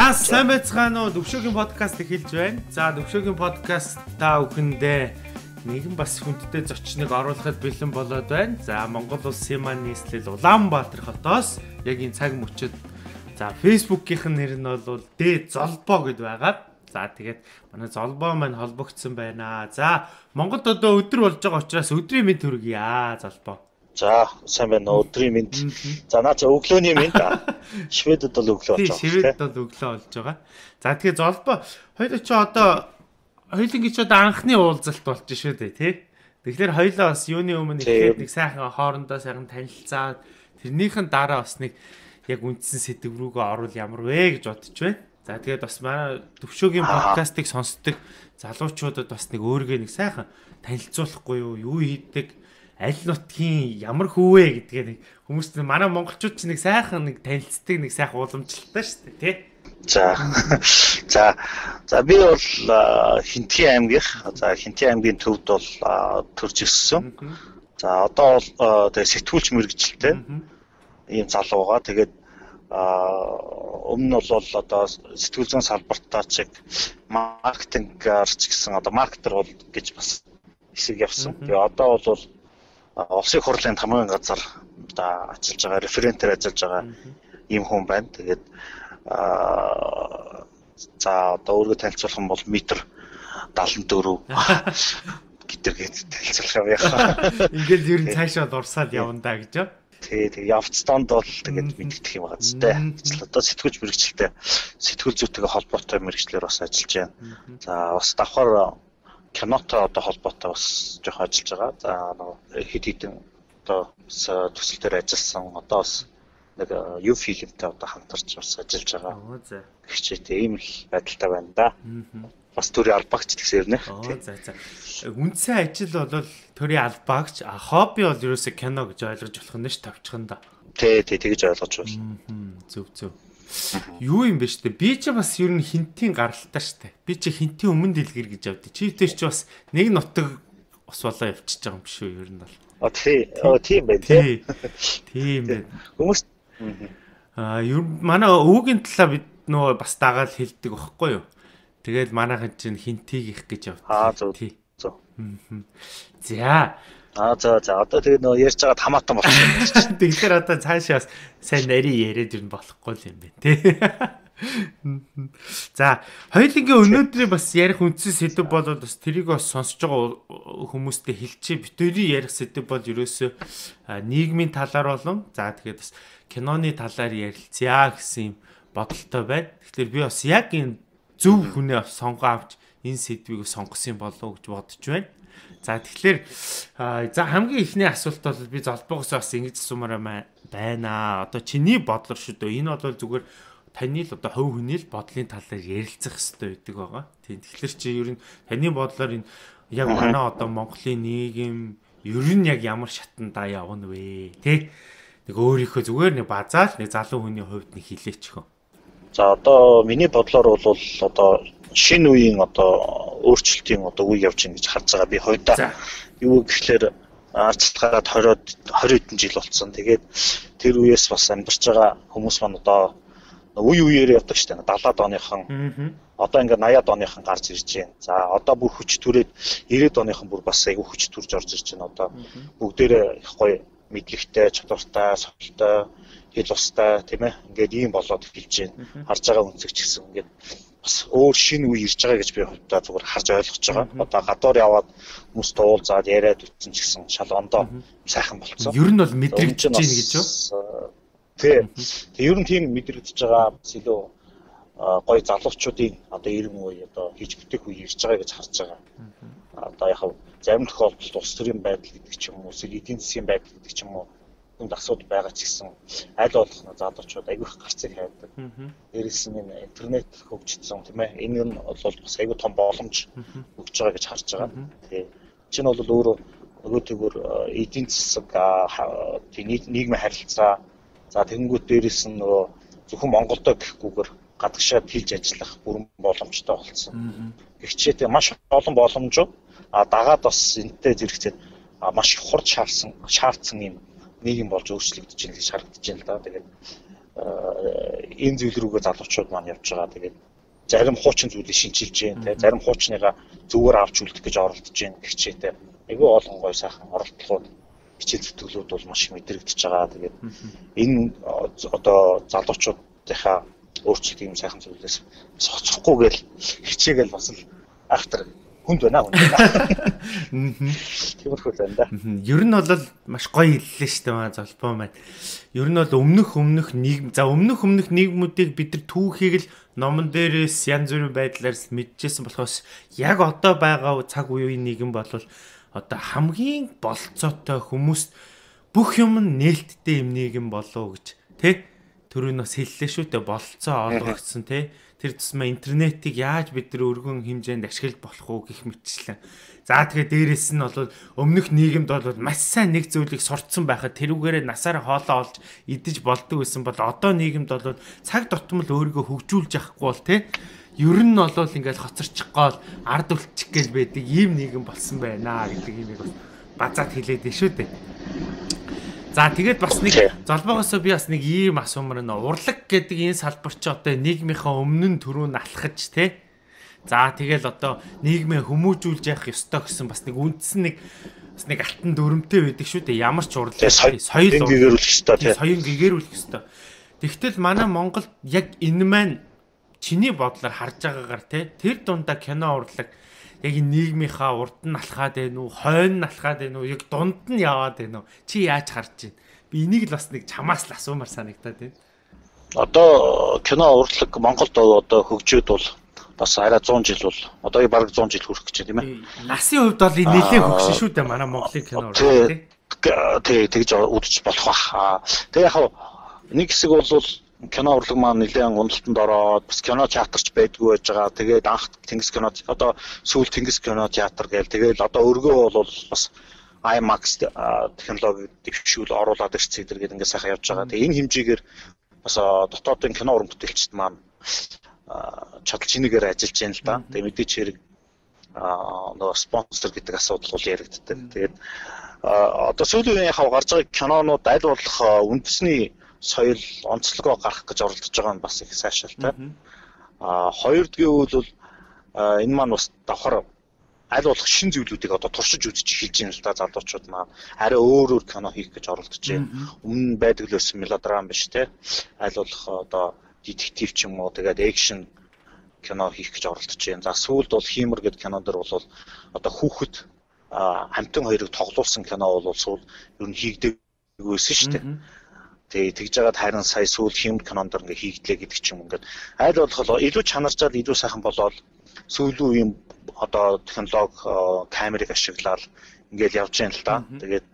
За сайн байцгаана уу? Төвшөөгийн подкаст эхэлж байна. За Төвшөөгийн подкаст та бүхэндээ нэгэн бас хүндтэй зочныг оруулахад бэлэн болоод байна. За Монгол улсын маань нийслэл Улаанбаатар хотоос яг энэ цаг мөчид за Facebook-ийнх нь нэр нь бол Дэ Золбоо гэд байгаа. За тэгээд манай Золбоо маань холбогдсон байна. За Монголд одоо өдөр болж байгаа учраас өдрийн мэнд хүргье Золбоо. За сайн байна уу? Өдрийн мэнд. За наа чи өглөөний мэнд. Шведэд бол өглөө болж байгаа. Шведэд бол өглөө болж байгаа. За тэгэхээр Золбоо хоёул чи одоо хоёулынгийн ч одоо анхны уулзалт болж шүү дээ тий. Тэгэхээр хоёулаа бас юуны өмнө ихэд нэг сайхан хоорондоо сайхан танилцаад тэрнийхэн дараа бас нэг яг үндсэн сэдв рүүгээ орвол ямар вэ гэж бодож байна. За тэгээд бас манай Төвшөөгийн подкастыг сонсдог залуучуудад бас нэг өөргөө нэг сайхан танилцуулахгүй юу хийдэг аль нутгийн ямар хүүвэ гэдгээ нэг хүмүүст манай монголчууд ч нэг сайхан нэг танилцдаг нэг сайхан уламжлалтай шүү дээ тий. За би бол Хинтгийн аймгийнх. За Хинтгийн аймгийн төвд бол төрж ирсэн. За одоо бол тэгээ сэтгүүлч мэргэжилтэй ийм залуу байгаа. Тэгээд өмнө нь бол одоо сэтгүүл зүйн салбартаа чиг маркетингээр ч гэсэн одоо маркетер бол гэж бас хэсэг явсан. Тэгээ одоо бол улсын хурлын хамгийн газар одоо ажиллаж байгаа референтээр ажиллаж байгаа ийм хүн байна. Тэгээд за одоо өөрийгөө танилцуулах юм бол метр 74 гэдэргээд танилцуулах юм яа. Ингээл ер нь цаашаа дурсаад явна да гэж юу? Тэг явцданд бол тэгээд мэддэх юм байгаа зү. Одоо сэтгүүлч мэргэжилтэй сэтгүүл зүйтэйгээ холбоотой мэргэжлэр бас ажиллаж байна. За бас давхар кинотой одоо холбоотой бас жоох ажиллаж байгаа. За хэд хэдэн одоо төсөл дээр ажилласан. Одоо бас нэг юу фильмтэй одоо хамтарч бас ажиллаж байгаа. За. Хичээтэй ийм л байдалтай байна да. Бас төрийн албаагч гэсэн юм нэ. За. Үндсэн ажил бол төрийн албаагч, хобби бол ерөөсөө кино гэж ойлгож болох нь ш тавьчихна да. Тий, тэгж ойлгож байна. Зөв. Юу юм бэ штэ? Би ч бас ер нь Хинтийн гаралтай штэ. Би чи Хинтийн өмнө дэлгэр гэж авдээ. Чивтэй ч бас нэг нутаг ус болоо явчихж байгаа юм биш үү ер нь бол. Тийм байх тий. Тийм байх. Хүмүүс ер манай өвөгийн талаа бид нөө бас дагаад хэлдэг байхгүй юу? Тэгээд манайхан чинь Хинтийг их гэж явдаг. Тий. За. За одоо тэгээ нөө ярьж байгаа хамаатан болчихсон. Тэгэхээр одоо цаашаа бас сайн нарийн яриад ирнэ болохгүй юм байна тий. За, хоёулынгийн өнөөдрийн бас ярих үндсэн сэдв бол бас тэрийг бас сонсож байгаа хүмүүстэй хэлчихье. Битүүрийн ярих сэдв бол ерөөсөө нийгмийн талаар болон за тэгээд бас киноны талаар ярилцъя гэсэн юм бодолтой байна. Тэгэхээр би бас яг энэ зөв хүнээ сонгоо авч энэ сэдвийг сонгосон болов уу гэж бодож байна. За тэгэхээр за хамгийн ихний асуулт бол би Золбоогоос бас ингэж асуумаар байна. Одоо чиний бодлоор шүү дээ. Энэ бол зүгээр таны л одоо хувь хүний л бодлын талаар ярилцах хэрэгтэй байдаг байгаа. Тийм. Тэгэхээр чи ер нь таны бодлоор энэ яг манай одоо Монголын нийгэм ер нь яг ямар шатандаа явна вэ? Тэ? Нэг өөрийнхөө зүгээр нэг базаал нэг залуу хүний хувьд нэг хилээч хөө. За одоо миний бодлоор бол одоо шинэ үеийн одоо өөрчлөлтийн одоо үе явж байна гэж харж байгаа. Би хоёудаа юу гэхлээр арчилгаараа 20 хэдэн жил болсон. Тэгээд тэр үеэс бас амьдарч байгаа хүмүүс маань одоо үеэр явдаг шүү дээ. 70-аад оныхан одоо ингээд 80-аад оныхан гарч ирж байна. За одоо бүр хүч түрээд 90-аад оныхан бүр бас айгүй хүч төрж орж ирж байна. Одоо бүгдээрээ их гоё мэдлэгтэй, чадвартай, совлтой, хэл устай тийм ээ. Ингээд ийм болоод эхэлж байна. Харж байгаа үнцэг ч гэсэн ингээд бас өөр шинэ үе ирж байгаа гэж би хувьдаа зүгээр харж ойлгож байгаа. Одоо гадуур яваад хүмүүс уулзаад яриад үтсэн ч гэсэн шал ондоо сайхан болцсон. Ер нь бол мэдрэгдэж байна гэж юу? Тэг ер нь тийм мэдрэгдэж байгаа бас илүү гоё залуучуудын одоо 90 үе одоо хийж бүтээх үе ирж байгаа гэж харж байгаа. Одоо яг зарим тохиолдолд улс төрийн байдал гэдэг ч юм уу, эдийн засгийн байдал гэдэг ч юм уу хүнд асуудал байгаа ч гэсэн аль болох залуучууд айгүйх гарцыг хайдаг. Дээрээс нь интернет хөгжсөн тийм ээ. Энэ нь бол бас айгүй том боломж өгч байгаа гэж харж байгаа. Тэг. Чинь бол өөрөө нөгөө төгөр эдийн засаг нийгмийн харилцаа за тэнгуут дээрээс нь нөгөө зөвхөн Монголдо гэхгүйгээр гадагшаад хийж ажиллах бүрэн боломжтой болсон. Гэхдээ маш олон боломжууд дагаад бас энэтэй зэрэгцээд маш их хурд шаардсан юм нийгэм болж өөрчлөгдөж байна гэж харагдаж байна л да. Тэгээд энэ зүйл рүүгээ залуучууд маань явж байгаа. Тэгээд зарим хуучин зүйлийг шинжилж байна те. Зарим хуучныгаа зүгээр авч үлдэх гэж оролдож байна гэх чийтэй. Айгүй олон гой сайхан оролдлогууд хичээл зүтгэлүүд бол маш их мэдрэгдэж байгаа. Тэгээд энэ одоо залуучуудынхаа өөрчлөлт юм сайхан зүйлээс цоцохгүйгээл хичээгээл бас л автор хүнд байна хүн. Тиймэрхүү байна да. Ер нь бол маш гоё хэллээ шүү дээ золбоо маань. Ер нь бол өмнөх нийгэм өмнөх нийгмүүдийг бид нар түүхийг л номон дээрээс янз бүрийн байдлаар мэдчихсэн болохоос яг одоо байгаа цаг үеийн нийгэм бол одоо хамгийн болцоотой хүмүүст бүх юм нээлттэй юм нийгэм болов гэж тий түрүүн бас хэллээ шүү дээ болцоо олгогдсон тий тэр тусмаа интернетийг яаж бид нар өргөн хэмжээнд ашиглаж болох уу гэх мэтчлэн. За тэгэхээр дээрэс нь бол өмнөх нийгэмд бол маш сайн нэг зүйлийг сурцсан байхад тэрүүгээрээ насаараа хоолоо олж идэж болдог байсан бол одоо нийгэмд бол цаг тутмал өөрийгөө хөгжүүлж явахгүй бол тий ер нь бол ингээл хоцорчих гол ард үлчих гээл байдаг ийм нийгэм болсон байна гэдэг юмыг бас базаад хэлээд дээ шүү дээ. За тэгээд бас нэг золбоогоосоо би бас нэг ийм асуумар нэ урлаг гэдэг энэ салбар чи одоо нийгмийнхаа өмнө төрөө налхаж те. За тэгэл одоо нийгмээ хүмүүжүүлж явах ёстой гэсэн бас нэг үндсэн нэг алтан дүрмтэй байдаг шүү дээ. Ямар ч урлаг соёл гэгэрүүлэх ёстой те. Соёл гэгэрүүлэх ёстой. Тэгтэл манай Монголд яг энэ маань чиний бодлоор харж байгаагаар те тэр дундаа кино урлаг яг нийгмийнхаа урд нь алхаад байна уу, хойно нь алхаад байна уу, яг дунд нь яваад байна уу? Чи яаж харж байна? Би энийг л бас нэг чамаас л асуумар санагдаад байна. Одоо кино урлаг Монголд одоо хөгжөөд бол бас арай 100 жил бол одоо бараг 100 жил хүрэх гэж байна тийм ээ. Насын хувьд бол нэлээд хөгжсөн шүү дээ манай Монголын кино урлаг тий. Тэгж үзэж болох бах. Тэгээ яг нэг хэсэг бол кино урлаг маань нэлээд уналтанд ороод бас кино театрч байдгүй байж байгаа. Тэгээд анх Тэнгис кино одоо сүүл Тэнгис кино театр гээл тэгээд одоо өргөө бол бас IMAX технологи дэвшүүл оруулаад ирсэн зэрэг ингээд сайхан явж байгаа. Тэгээд энэ хэмжээгээр бас дотоодын кино уран бүтээлчд маань чадал чинээгээр ажиллаж байна л да. Тэгээд мэдээч хэрэг нөгөө спонсор гэдэг асуудал бол яригддаг. Тэгээд одоо сүүлийн үеийн гарч байгаа кинонууд аль болох үндэсний соёл онцлогоо гаргах гэж оролдож байгаа нь бас их сайшаалтай. Хоёрдгийн үйл бол энэ маань бас давхар аль болох шин зүйлүүдийг одоо туршиж үзэж эхэлж байна л да залуучууд маань. Арай өөр кино хийх гэж оролдож байна. Өмнө байдаг л байсан мелодрам биш те. Аль болох одоо детектив ч юм уу тэгээд экшн кино хийх гэж оролдож байна. За сүүлд бол Хиймэр гэдэг кинон дэр бол одоо хүүхэд хамтан хоёрыг тоглуулсан кино бол сүүл ер нь хийгдэггүйсэн шүү дээ. Тэгээ тэгж жагаад харин сая сүүл Хиймэр кинонд ингээ хийгдлээ гэдэг ч юм ингээд аль болох илүү чанарчаад илүү сайхан болоод сүүлийн үеийн одоо технологи камерыг ашиглаад ингээл явж байна л да. Тэгээд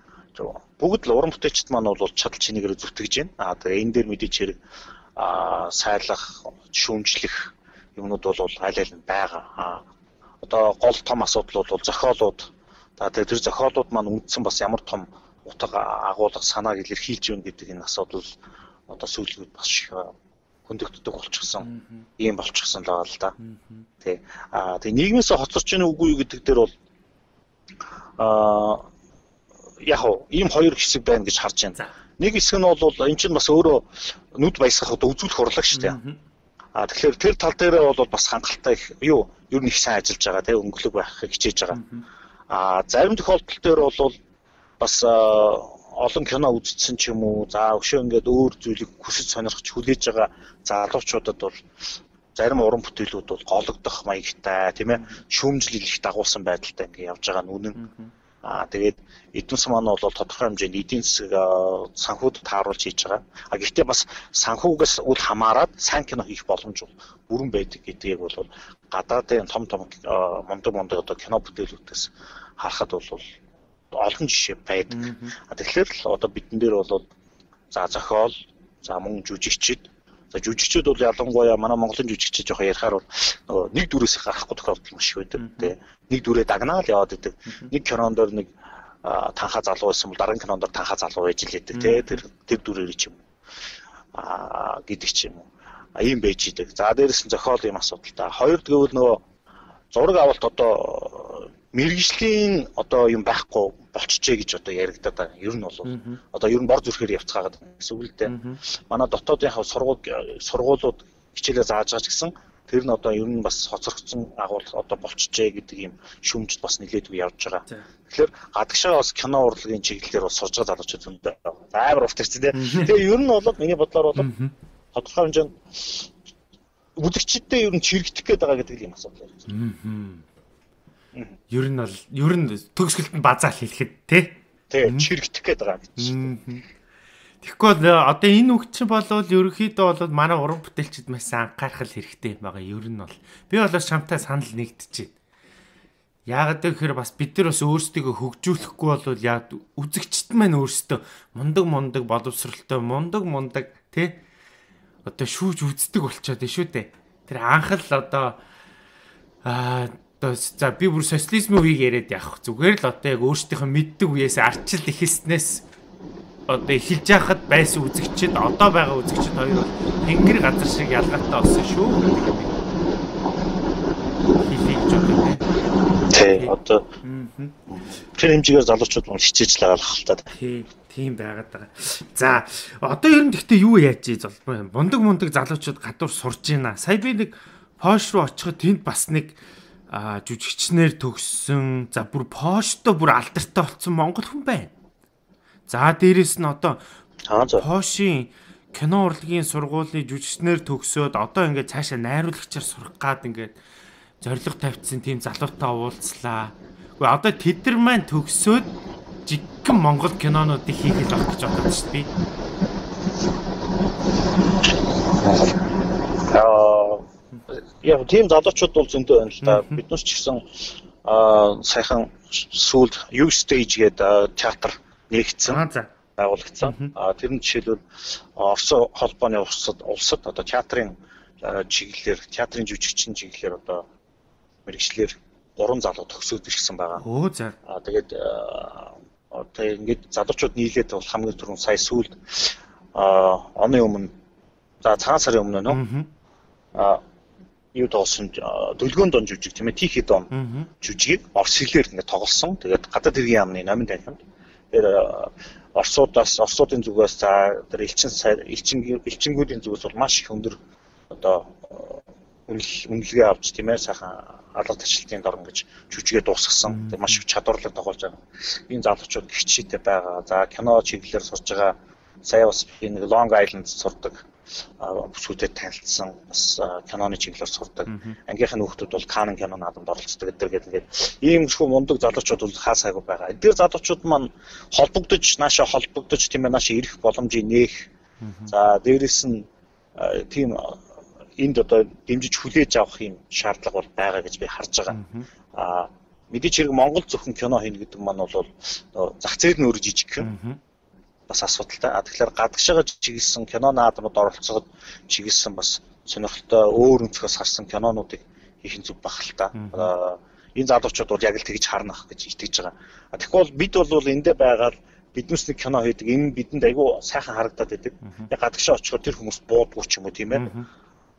бүгд л уран бүтээлчд маань бол чадал чинээгээр зүтгэж байна. Тэгээ энэ дээр мэдээч хэрэг сайлах, шүүмжлэх юмнууд бол аль аль нь байгаа. Одоо гол том асуудал бол зохиолууд. Тэгээ тэр зохиолууд маань үндсэн бас ямар том утга агуулга санааг илэрхийлж байна гэдэг энэ асуудал одоо сүүлүүд бас хөндөгддөг болчихсон. Ийм болчихсон л байгаа л да. Тэгээ нийгмээс хоцорч ийн үгүй гэдэг дээр бол яг ийм хоёр хэсэг байна гэж харж байна. Нэг хэсэг нь бол эн чинь бас өөрөө нүд баясгахад үзүүлэх урлаг шүү дээ. Тэгэхээр тэр тал дээр бол бас хангалттай их ер нь их сайн ажиллаж байгаа тийм өнгөлөг байхыг хичээж байгаа. Зарим тохиолдол дээр бол бас олон кино үзсэн ч юм уу за өшөө ингээд өөр зүйлийг хүсэж сонирхож хүлээж байгаа залуучуудад бол зарим уран бүтээлүүд бол гологдох маягтай тийм ээ шүүмжлэл их дагуулсан байдалтай ингээд явж байгаа нь үнэн. Тэгээд эдийн засаг маань бол тодорхой хэмжээнд эдийн засаг санхүүд тааруулж хийж байгаа. Гэхдээ бас санхүүгээс үл хамааран сайн кино хийх боломж бүрэн байдаг гэдгийг бол гадаадын том мондог одоо кино бүтээлүүдээс харахад бол олон жишээ байдаг. Тэгэхээр л одоо бидэн дээр бол за зохиол, за мөн жүжигчид. За жүжигчид бол ялангуяа манай Монголын жүжигчид жоохон ярихаар бол нөгөө нэг дүрээс гарахгүй тохиолдол маш их байдаг. Тэ нэг дүрээ дагнаал яваад идэг. Нэг кинонд нэг танхаа залуу байсан бол дараагийн кинонд танхаа залуу байж лээдэг. Тэ тэр дүрээр ч юм гэдэг ч юм уу. Ийм байж идэг. За дээрээс нь зохиол юм асуудалтай. Хоёр гэвэл нөгөө зураг авалт одоо мэргэжлийн одоо юм байхгүй болчихжээ гэж одоо яригадаад байгаа. Ер нь бол одоо ер нь бор зүрхээр явцгаагаад гэсэн үг л дээ. Манай дотоодынхаа сургуулиуд хичээлээ зааж байгаа ч гэсэн тэр нь одоо ер нь бас хоцрогдсон агуулга одоо болчихжээ гэдэг юм шүүмжид бас нэлээдгүй явж байгаа. Тэгэхээр гадагшаа бас кино урлагийн чиглэлээр бас сурж байгаа залуучууд зөндөө. Амар урт ирсэн тийм. Тэгээ ер нь бол миний бодлоор бол тодорхой хэмжээнд үзэгчдээ ер нь чирэгдэх гээд байгаа гэдэг юм асуудал байна. Ер нь төгсгөлд нь базаал хэлэхэд тий чирэгдэх гээд байгаа гэж. Тэгэхгүй одоо энэ үг чинь болвол ерөнхийдөө бол манай уран бүтээлчид маш анхаарах хэрэгтэй юм байгаа. Ер нь бол би бол шамтай санал нэгдэж байна. Яагаад гэхээр бас бид нар бас өөрсдийгөө хөгжүүлэхгүй бол яг үзэгчд маань өөрсдөө мундаг боловсралтай мундаг тий одоо шүүж үздэг болчиход байна шүү дээ. Тэр анхал одоо за би бүр социализмын үеийг яриад явах зүгээр л одоо яг өөрсдийнхөө мэддэг үеэс арчил ихэлснээс одоо эхэлж яхад байсан үзэгчид одоо байгаа үзэгчид хоёр бол тэнгэр газар шиг ялгаатай болсон шүү. Хэлийг ч одоо тий одоо тэр хэмжээгээр залуучууд мөн хичээж л байгаа л та. Тийм байгаад байгаа. За одоо ер нь гэхдээ юу яаж золбоо мундаг залуучууд гадуур сурж байна. Сая би нэг Польш руу очиход тэнд бас нэг жүжигчнэр төгссөн за бүр Польштой бүр алдартай болсон монгол хүн байна. За дээрэс нь одоо Польшийн кино урлагийн сургуулийн жүжигчнэр төгсөөд одоо ингээд цаашаа найруулагчаар сурах гад ингээд зорилго тавьчихсан тийм залуутай уулзлаа. Гэхдээ одоо тэд нар маань төгсөөд жиггэн монгол кинонуудыг хийх л болох гэж бодож шүү дээ. Яг тийм залуучууд бол зөндөө байна л да. Биднес ч гэсэн сайхан сүүлд U Stage гэдэг театр нэгдсэн байгуулагдсан. Тэр нь жишээлбэл Орос холбооны улсад одоо театрын чиглэлээр театрын жүжигчин чиглэлээр одоо мэргэжлэр 3 залуу төгсөөд ирсэн байгаа. Тэгээд одоо ингээд залуучууд нийлээд бол хамгийн түрүүнд сая сүүлд оны өмнө за цагаан сарын өмнө нөө юу тоосон дөлгөөн дон жүжиг тийм ээ Тихий дон жүжигийг орос хэлээр ингээд тоглосон. Тэгээд гадаад хэргийн яамны номын танхимд тэр орсуудын зүгээс за тэр элчингүүдийн зүгээс бол маш их өндөр одоо үнэлгээ авч тийм ээ сайхан алга ташлтын дор ингэж жүжигээ дуусгасан. Тэр маш их чадварлаг тоглож байгаа. Энэ залуучууд хичээтэй байгаа. За кино чиглэлээр сурж байгаа. Сая бас би нэг Long Island сурдаг бүсгүүдэд танилцсан бас киноны чиглэлээр сурдаг. Ангийнхын хүүхдүүд бол Канн кино наадамд оролцдог гэдэг. Иймэрхүү мундаг залуучууд бол хаа сайгүй байгаа. Эдгээр залуучууд маань наашаа холбогдож тийм ээ наашаа ирэх боломжийг нээх. За дээрэс нь тийм энд одоо дэмжиж хүлээж авах юм шаардлага бол байгаа гэж би харж байгаа. Мэдээч хэрэг Монгол зөвхөн кино хийнэ гэдэг маань бол зах зээл нь өөр жижиг юм. Бас асуудалтай. Тэгэхээр гадагшаага чиглэсэн кино наадамд оролцоход чиглэсэн бас сонирхолтой өөр өнцгөөс харсан кинонуудыг хийх нь зүг бах л та. Энэ залуучууд бол яг л тэгж харнах гэж итгэж байгаа. Тэгэхгүй бид бол эндээ байгаад биднээс нэг кино хийдэг. Энэ бидэнд айгүй сайхан харагдаад байдаг. Яг гадагшаа очиход тэр хүмүүс буудгүй ч юм уу тийм ээ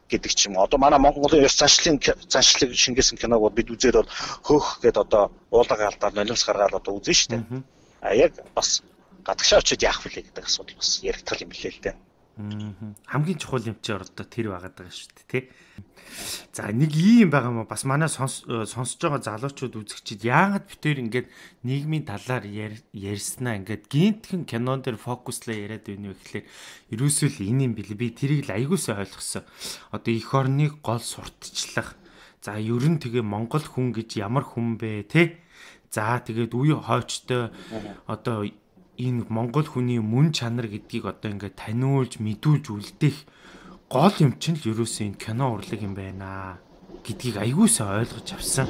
гэдэг ч юм. Одоо манай Монголын ёс заншлыг шингээсэн киног бол бид үзээд бол хөөх гэд одоо уулга алдаад нулимс гаргаад одоо үзэн штэ. Яг бас гадагшаа очиод яах вэ гэдэг асуудал бас яригдтал юм билээ л дээ. Хамгийн чухал юм чи ордоо тэр байгаад байгаа шүү дээ тий. За нэг ийм байгаа юм бас манай сонсож байгаа залуучууд үзэгчид яагаад битээр ингээд нийгмийн талаар ярьснаа ингээд гинтхэн кинон дээр фокуслаа яриад байна вэ гэхлээр ерөөсөө л энэ юм билээ. Би тэрийг л аягуулсаа ойлгосон. Одоо эх орныг гол сурталчлах. За ерөн тэгээ Монгол хүн гэж ямар хүн бэ тий. За тэгээд үе хойчтой одоо энэ Монгол хүний мөн чанар гэдгийг одоо ингээд таниулж мэдүүлж үлдээх гол юм чинь л ерөөсөө энэ кино урлаг юм байна гэдгийг аягуулсаа ойлгож авсан.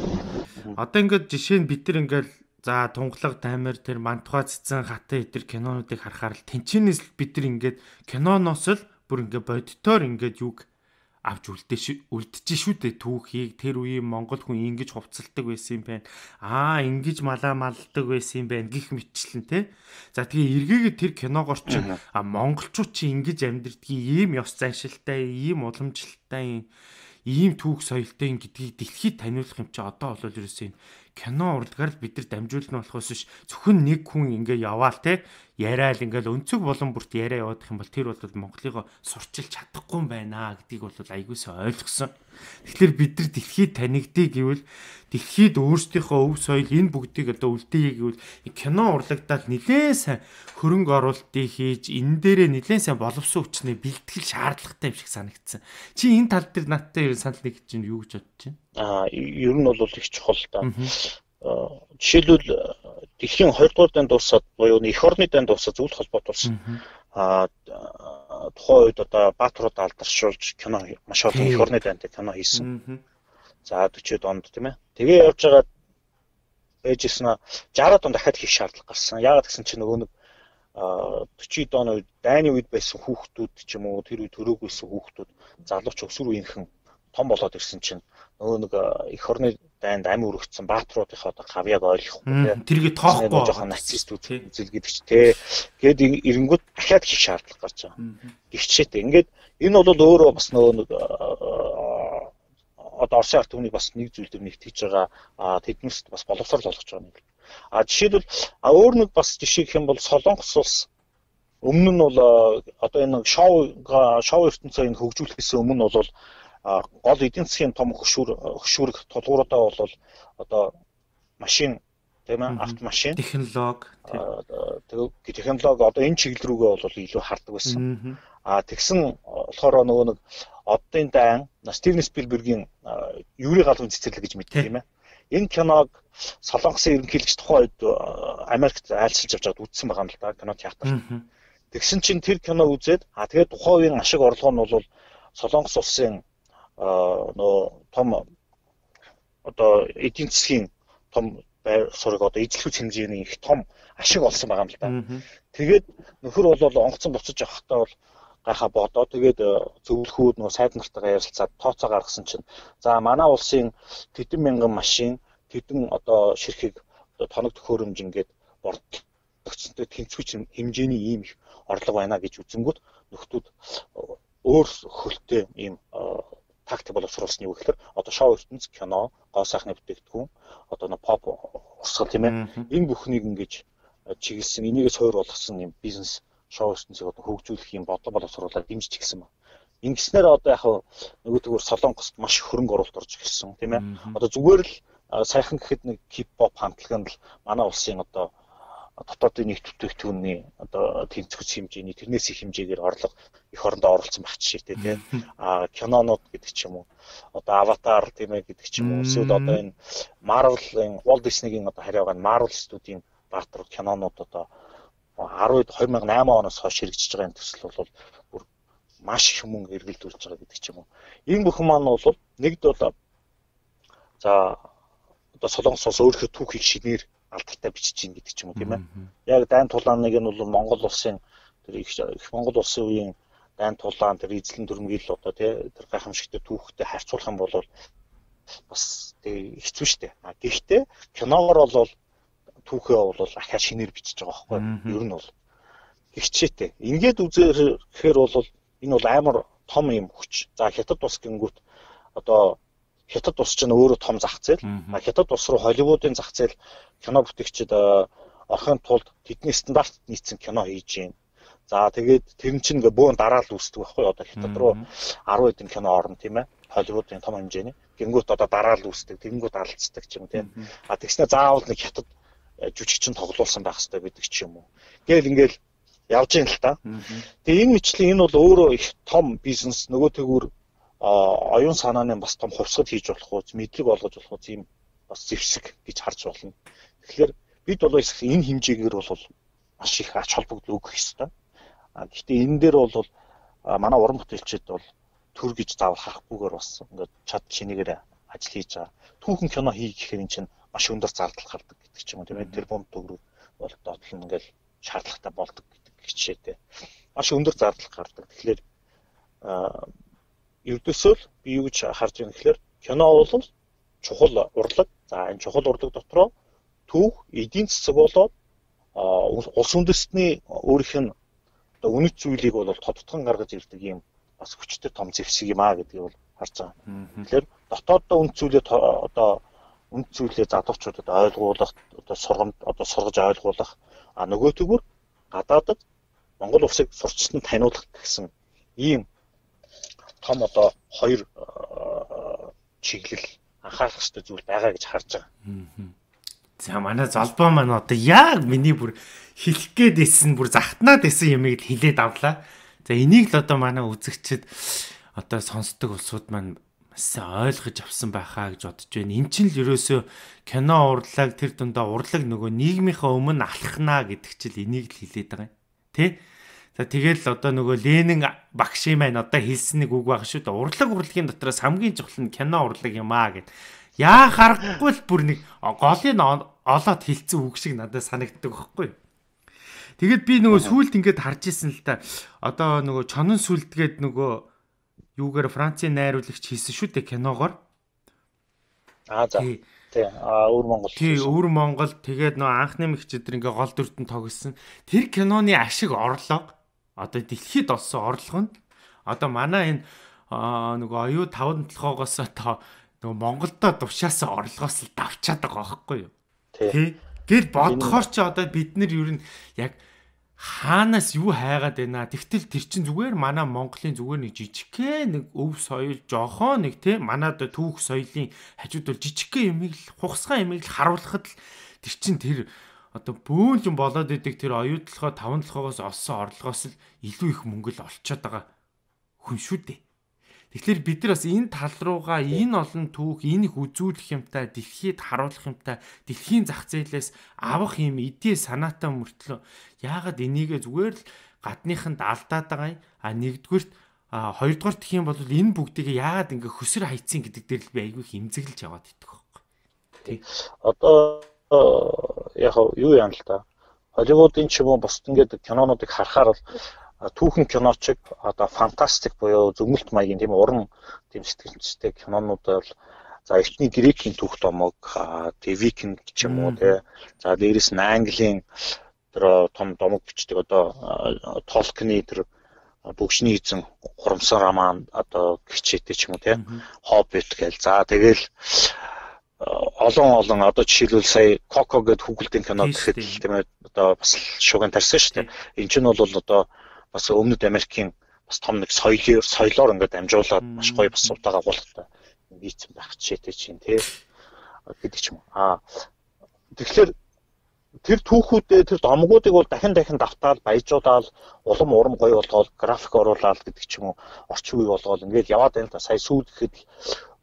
Одоо ингээд жишээ нь бид нар ингээд за тунгалаг таймер тэр мантуха цэцэн хатан эдэр кинонуудыг харахаар л тэнчэнээс бид нар ингээд киноноос л бүр ингээд бодитоор ингээд юг авч үлдэж шүү дээ түүхийг. Тэр үеийн Монгол хүн ингэж хувцалдаг байсан юм байна. Ингэж малаа малдаг байсан юм байна гэх мэтчлэн те. За тэгээ эргээгээ тэр киногоор чи монголчууд чи ингэж амьдрдгийг ийм ёс заншилтай, ийм уламжлалтай, ийм түүх соёлтой гэдгийг дэлхийд таниулах юм чи одоо бол ерөөсөө кино урлагаар л бид нар дамжуулна болохоос биш зөвхөн нэг хүн ингээ яваал те яриад ингээл өнцөг болон бүрт яриа яваадах юм бол тэр бол Монголыгоо сурчилж чадахгүй юм байна гэдгийг бол аягуулсаа ойлгосон. Тэгэхээр бид нар дэлхийд танигдъя гэвэл дэлхийд өөрсдийнхөө өв соёл энэ бүгдийг одоо үлдээе гэвэл кино урлагтаад нэлээд сайн хөрөнгө оруулалтыг хийж энэ дээрээ нэлээд сайн боловсон хүчнээ бэлтгэл шаардлагатай юм шиг санагдсан. Чи энэ тал дээр надтай ер нь санал нэг чинь юу гэж бодож байна? Ер нь бол их чухал та. Жишээлбэл дэлхийн 2 дугаар дайнд дуусаад буюу эх орны дайнд дуусаад зөвлөлт холбоотулсан. Тухайн үед одоо баатрууд алдаршуулж кино маш олон эх орны дайнд кино хийсэн. За 40-од онд тийм ээ. Тэгээ явж байгаа байжсэн 60-аад он дахиад хийх шаардлага гарсан. Яагаад гэсэн чинь нөгөө нэг 40-д оны үед дайны үед байсан хүүхдүүд ч юм уу тэр үед төрөөгүйсэн хүүхдүүд залууч өсвөр үеийнхэн том болоод ирсэн чинь нөгөө нэг эх орны дайнд ам өргөцсөн баатруудынхаа одоо гавьяаг ойлгохгүй тэргээ тоохгүй жоохон нацист үзэл гэдэг чи тэ гээд эренгүүд дахиад хийх шаардлага гарч байгаа. Гихчээтэй. Ингээд энэ бол өөрөө бас нөгөө нэг одоо Оросын ард түмнийг бас нэг зүйл дээр нэгтгэж байгаа тэднэрт бас боловсрол олгож байгаа нэг. Жишээлбэл өөр нэг бас жишээ гэх юм бол Солонгос улс өмнө нь бол одоо энэ шоу ертөнцөө энэ хөгжүүлэхээс өмнө бол гол эдийн засгийн том хөшүүрэг тулгууруудаа бол одоо машин тийм ээ автомашин технологи технологи одоо энэ чиглэл рүүгээ бол илүү хардаг байсан. Тэгсэн болохоор нөгөө нэг оддын дайн Стивен Спилбергийн Юрий галвын цэцэрлэг гэж мэддэг юм ээ. Энэ киног Солонгосын ерөнхийлөгч тухайн үед Америкт айлчилж авч байгаад үзсэн байгаа юм л да кино театр. Тэгсэн чинь тэр кино үзээд тэгээд тухайн үеийн ашиг орлого нь бол Солонгос улсын нөө том одоо эдийн засгийн том байр суурийг одоо эзлэх хэмжээний их том ашиг олсон байгаа юм л да. Тэгээд нөхөр бол онгоцон буцаж явахдаа бол гайхаа бодоо тэгээд зөвлөхүүд нөө сайд нартайгаа ярилцаад тооцоо гаргасан чинь за манай улсын тэдэн мянган машин тэдэн одоо ширхэг тоног төхөөрөмж ингээд бордогцонтой тэнцвч хэмжээний ийм их орлого байна гэж үзэнгүүт нөхдүүд өөр хөлтэй ийм тактик боловсруулсан юу гэхээр одоо шоу ертөнц кино гоо сайхны бүтээгдэхүүн одоо нэг pop урсгал тийм ээ энэ бүхнийг ингэж чиглэсэн энийгээ суур болгосон юм бизнес шоу ертөнцийг одоо хөгжүүлэх юм бодлого боловсруулаад дэмжиж гисэн ба. Ингэснээр одоо яг нөгөө төгөр Солонгост маш хөрөнгө оруулалт орж ирсэн тийм ээ. Одоо зүгээр л сайхан гэхэд нэг хип-хоп хамтлаганд л манай улсын одоо дотоодын нийт бүтээгдэхүүний одоо тэнцвч хэмжээний тэрнээс их хэмжээгээр орлого эх орондоо оруулсан багч шийдтэй тийм кинонууд гэдэг ч юм уу одоо аватар тийм ээ гэдэг ч юм уу эсвэл одоо энэ Marvel-ын Walt Disney-гийн одоо хариу байгаа Marvel студийн баатар кинонууд одоо 2008 оноос хойш хэрэгжиж байгаа энэ төсөл бол бүр маш их мөнгө эргэлдүүлж байгаа гэдэг ч юм уу. Энэ бүхэн маань бол нэгд бол за одоо Солонгос улс өөрийнхөө түүхийг шинээр алдартай бичиж гин гэдэг ч юм уу тийм ээ. Яг дайн тулааныг нь бол Монгол улсын тэр их Монгол улсын үеийн дайн тулаан тэр эзлэн дүрмгийл одоо тий тэр гайхамшигтай түүхтэй харьцуулах юм бол бас тий хэцүү шттэ. Гэхдээ киногоор бол түүхээ бол ахаа шинээр бичиж байгаа байхгүй юу? Ер нь бол хичээтэй. Ингээд үзэхээр бол энэ бол амар том юм хүч. За хятад ус гингүүт одоо хятад ус чинь өөрөө том зах зээл. Хятад ус руу Холливуудын зах зээл кино бүтээгчид орохын тулд тэдний стандарт нийцсэн кино хийж байна. За тэгээд тэр чинь ингээ бөөн дараал үүсдэг байхгүй юу? Одоо хятад руу 10 хэдэн кино орно тийм ээ. Холливуудын том хэмжээний. Гингүүт одоо дараал үүсдэг, тэнгүүд алдцдаг ч юм тийм. Тэгснэ заавал нэг хятад жүжигчин тоглуулсан байх хэрэгтэй гэдэг ч юм уу. Ингээл явж ийн л та. Тэгээ энэ мэтлэн энэ бол өөрөө их том бизнес нөгөө тэгүр оюун санааны бас том хувьсгал хийж болох уу, мэдлэг олгож болох уу тийм бас зэвсэг гэж харж болно. Тэгэхээр бид бол энэ хэмжээгээр бол маш их ач холбогдол өгөх ёстой. Гэхдээ энэ дээр бол манай уран бүтээлчид бол төр гэж заавал харахгүйгээр бас ингээд чад шинийгээр ажил хийж байгаа. Түүхэн кино хий гэхээр эн чинь маш өндөр зардал гардаг гэдэг ч юм уу тийм ээ. Тэр бомб төгрөг бол доотлон ингээл шаардлагатай болдог гэдэг хичээтэй. Маш өндөр зардал гардаг. Тэгэхээр ердөөсөө би юу гэж харж байна гэхээр кино бол чухал урлаг. За энэ чухал урлаг дотроо түүх, эдийн засаг болоод улс үндэстний өөрийнх нь одоо үнэт зүйлийг бол тодтгон гаргаж ирдэг юм бас хүчтэй том зэвсэг юм аа гэдгийг бол харж байгаа. Тэгэхээр дотооддоо үнэт зүйлээ одоо үнд зүйлээ залуучуудад ойлгуулах, одоо сургаж ойлгуулах, нөгөө төгөр гадаадад Монгол улсыг сурчсан таниулах гэсэн ийм том одоо хоёр чиглэл анхаарах хэрэгтэй зүйл байгаа гэж харж байгаа. За манай золбоо маань одоо яг миний бүр хэлэх гээд исэн бүр захтнаад исэн юмыг хэлээд авлаа. За энийг л одоо манай үзэгчид одоо сонсдог улсууд маань ойлгож авсан байхаа гэж бодож байна. Энд чинь л ерөөсөө кино урлаг тэр дундаа урлаг нөгөө нийгмийнхаа өмнө алхнаа гэдэг чил энийг л хэлээд байгаа юм. Тэ? За тэгэл одоо нөгөө Ленин багшийн маань одоо хэлсэн нэг үг байгаа шүү дээ. Урлагийн дотроос хамгийн чухал нь кино урлаг юм аа гэд. Яа харахгүй л бүр нэг голыг олоод хэлсэн үг шиг надад санагддаг байхгүй юу? Тэгэд би нөгөө сүулт ингээд харж исэн л та. Одоо нөгөө чонон сүлдгээд нөгөө юугаар Францын найруулагч хийсэн шүү дээ киногоор. За. Тий. Өвөр Монгол. Тий, Өвөр Монгол тэгээд нөгөө анхны мэгчдэр ингээ гол дүртэн тоглосон. Тэр киноны ашиг орлого одоо дэлхийд олсон орлого нь одоо манай энэ нөгөө оюу 5-7-оос одоо нөгөө Монголдо тушаасан орлогоос л давчаад байгаа байхгүй юу? Тий. Гэл бодохоор ч одоо бид нар ер нь яг хаанаас юу хайгаад байна. Тэгтэл тэр чин зүгээр манай Монголын зүгээр нэг жижигхэн нэг өв соёл жоохоо нэг тий манад түүх соёлын хажууд бол жижигхэн юмыг л хугасган юмыг л харуулхад л тэр чин тэр одоо бөөнлөн болоод идэг тэр оюутлахоо 5-7-оос олсон орлогоос л илүү их мөнгө л олцоод байгаа хүн шүү дээ. Тэгэхээр бид нар бас энэ тал руугаа энэ олон түүх, энэ их үзүүлэх юмтай, дэлхийд харуулах юмтай, дэлхийн зах зээлээс авах юм эдийн санаатай мөртлөө яагаад энийгээ зүгээр л гадныханд алдаад байгаа юм. Нэгдүгürt хоёрдугаар гэх юм бол энэ бүгдийг яагаад ингээ хөсөр хайцсан гэдэг дээр л би айгүй их имзэглэж яваад идэх байхгүй. Тий. Одоо яг юу яана л та. Холливуудын ч юм уу бусд ингээд кинонуудыг харахаар бол түүхэн киночиг одоо фантастик буюу зөгнөлт маягийн тийм уран тийм сэтгэлжтэй кинонууд бол за эхний грекийн түүх домог тийм викинг ч юм уу тий. За дээрэс нь английн тэр том домог бичдэг одоо Толкины тэр бүгшний эзэн хурамсан роман одоо гिचээтэй ч юм уу тий. Хоббит гээл. За тэгэл олон одоо жишээлбэл сая Коко гэдэг хүүхэлдэйн кино гэхэд тийм ээ одоо бас шуган тарьсан шүү дээ. Энд чинь бол одоо бас Өмнөд Америкийн бас том нэг соёлоор ингээд амжуулаад маш гоё бас утаа агуулгатай нийцсэн байх жишээтэй чинь тий гэдэг ч юм. Тэгэхээр тэр түүхүүдээ тэр домгуудыг бол дахин давтаал баяжуулаад улам урам гоё болгоод график оруулаад гэдэг ч юм уу орчин үе болгоод ингээд яваад байна л да. Сая сүүл гэхэд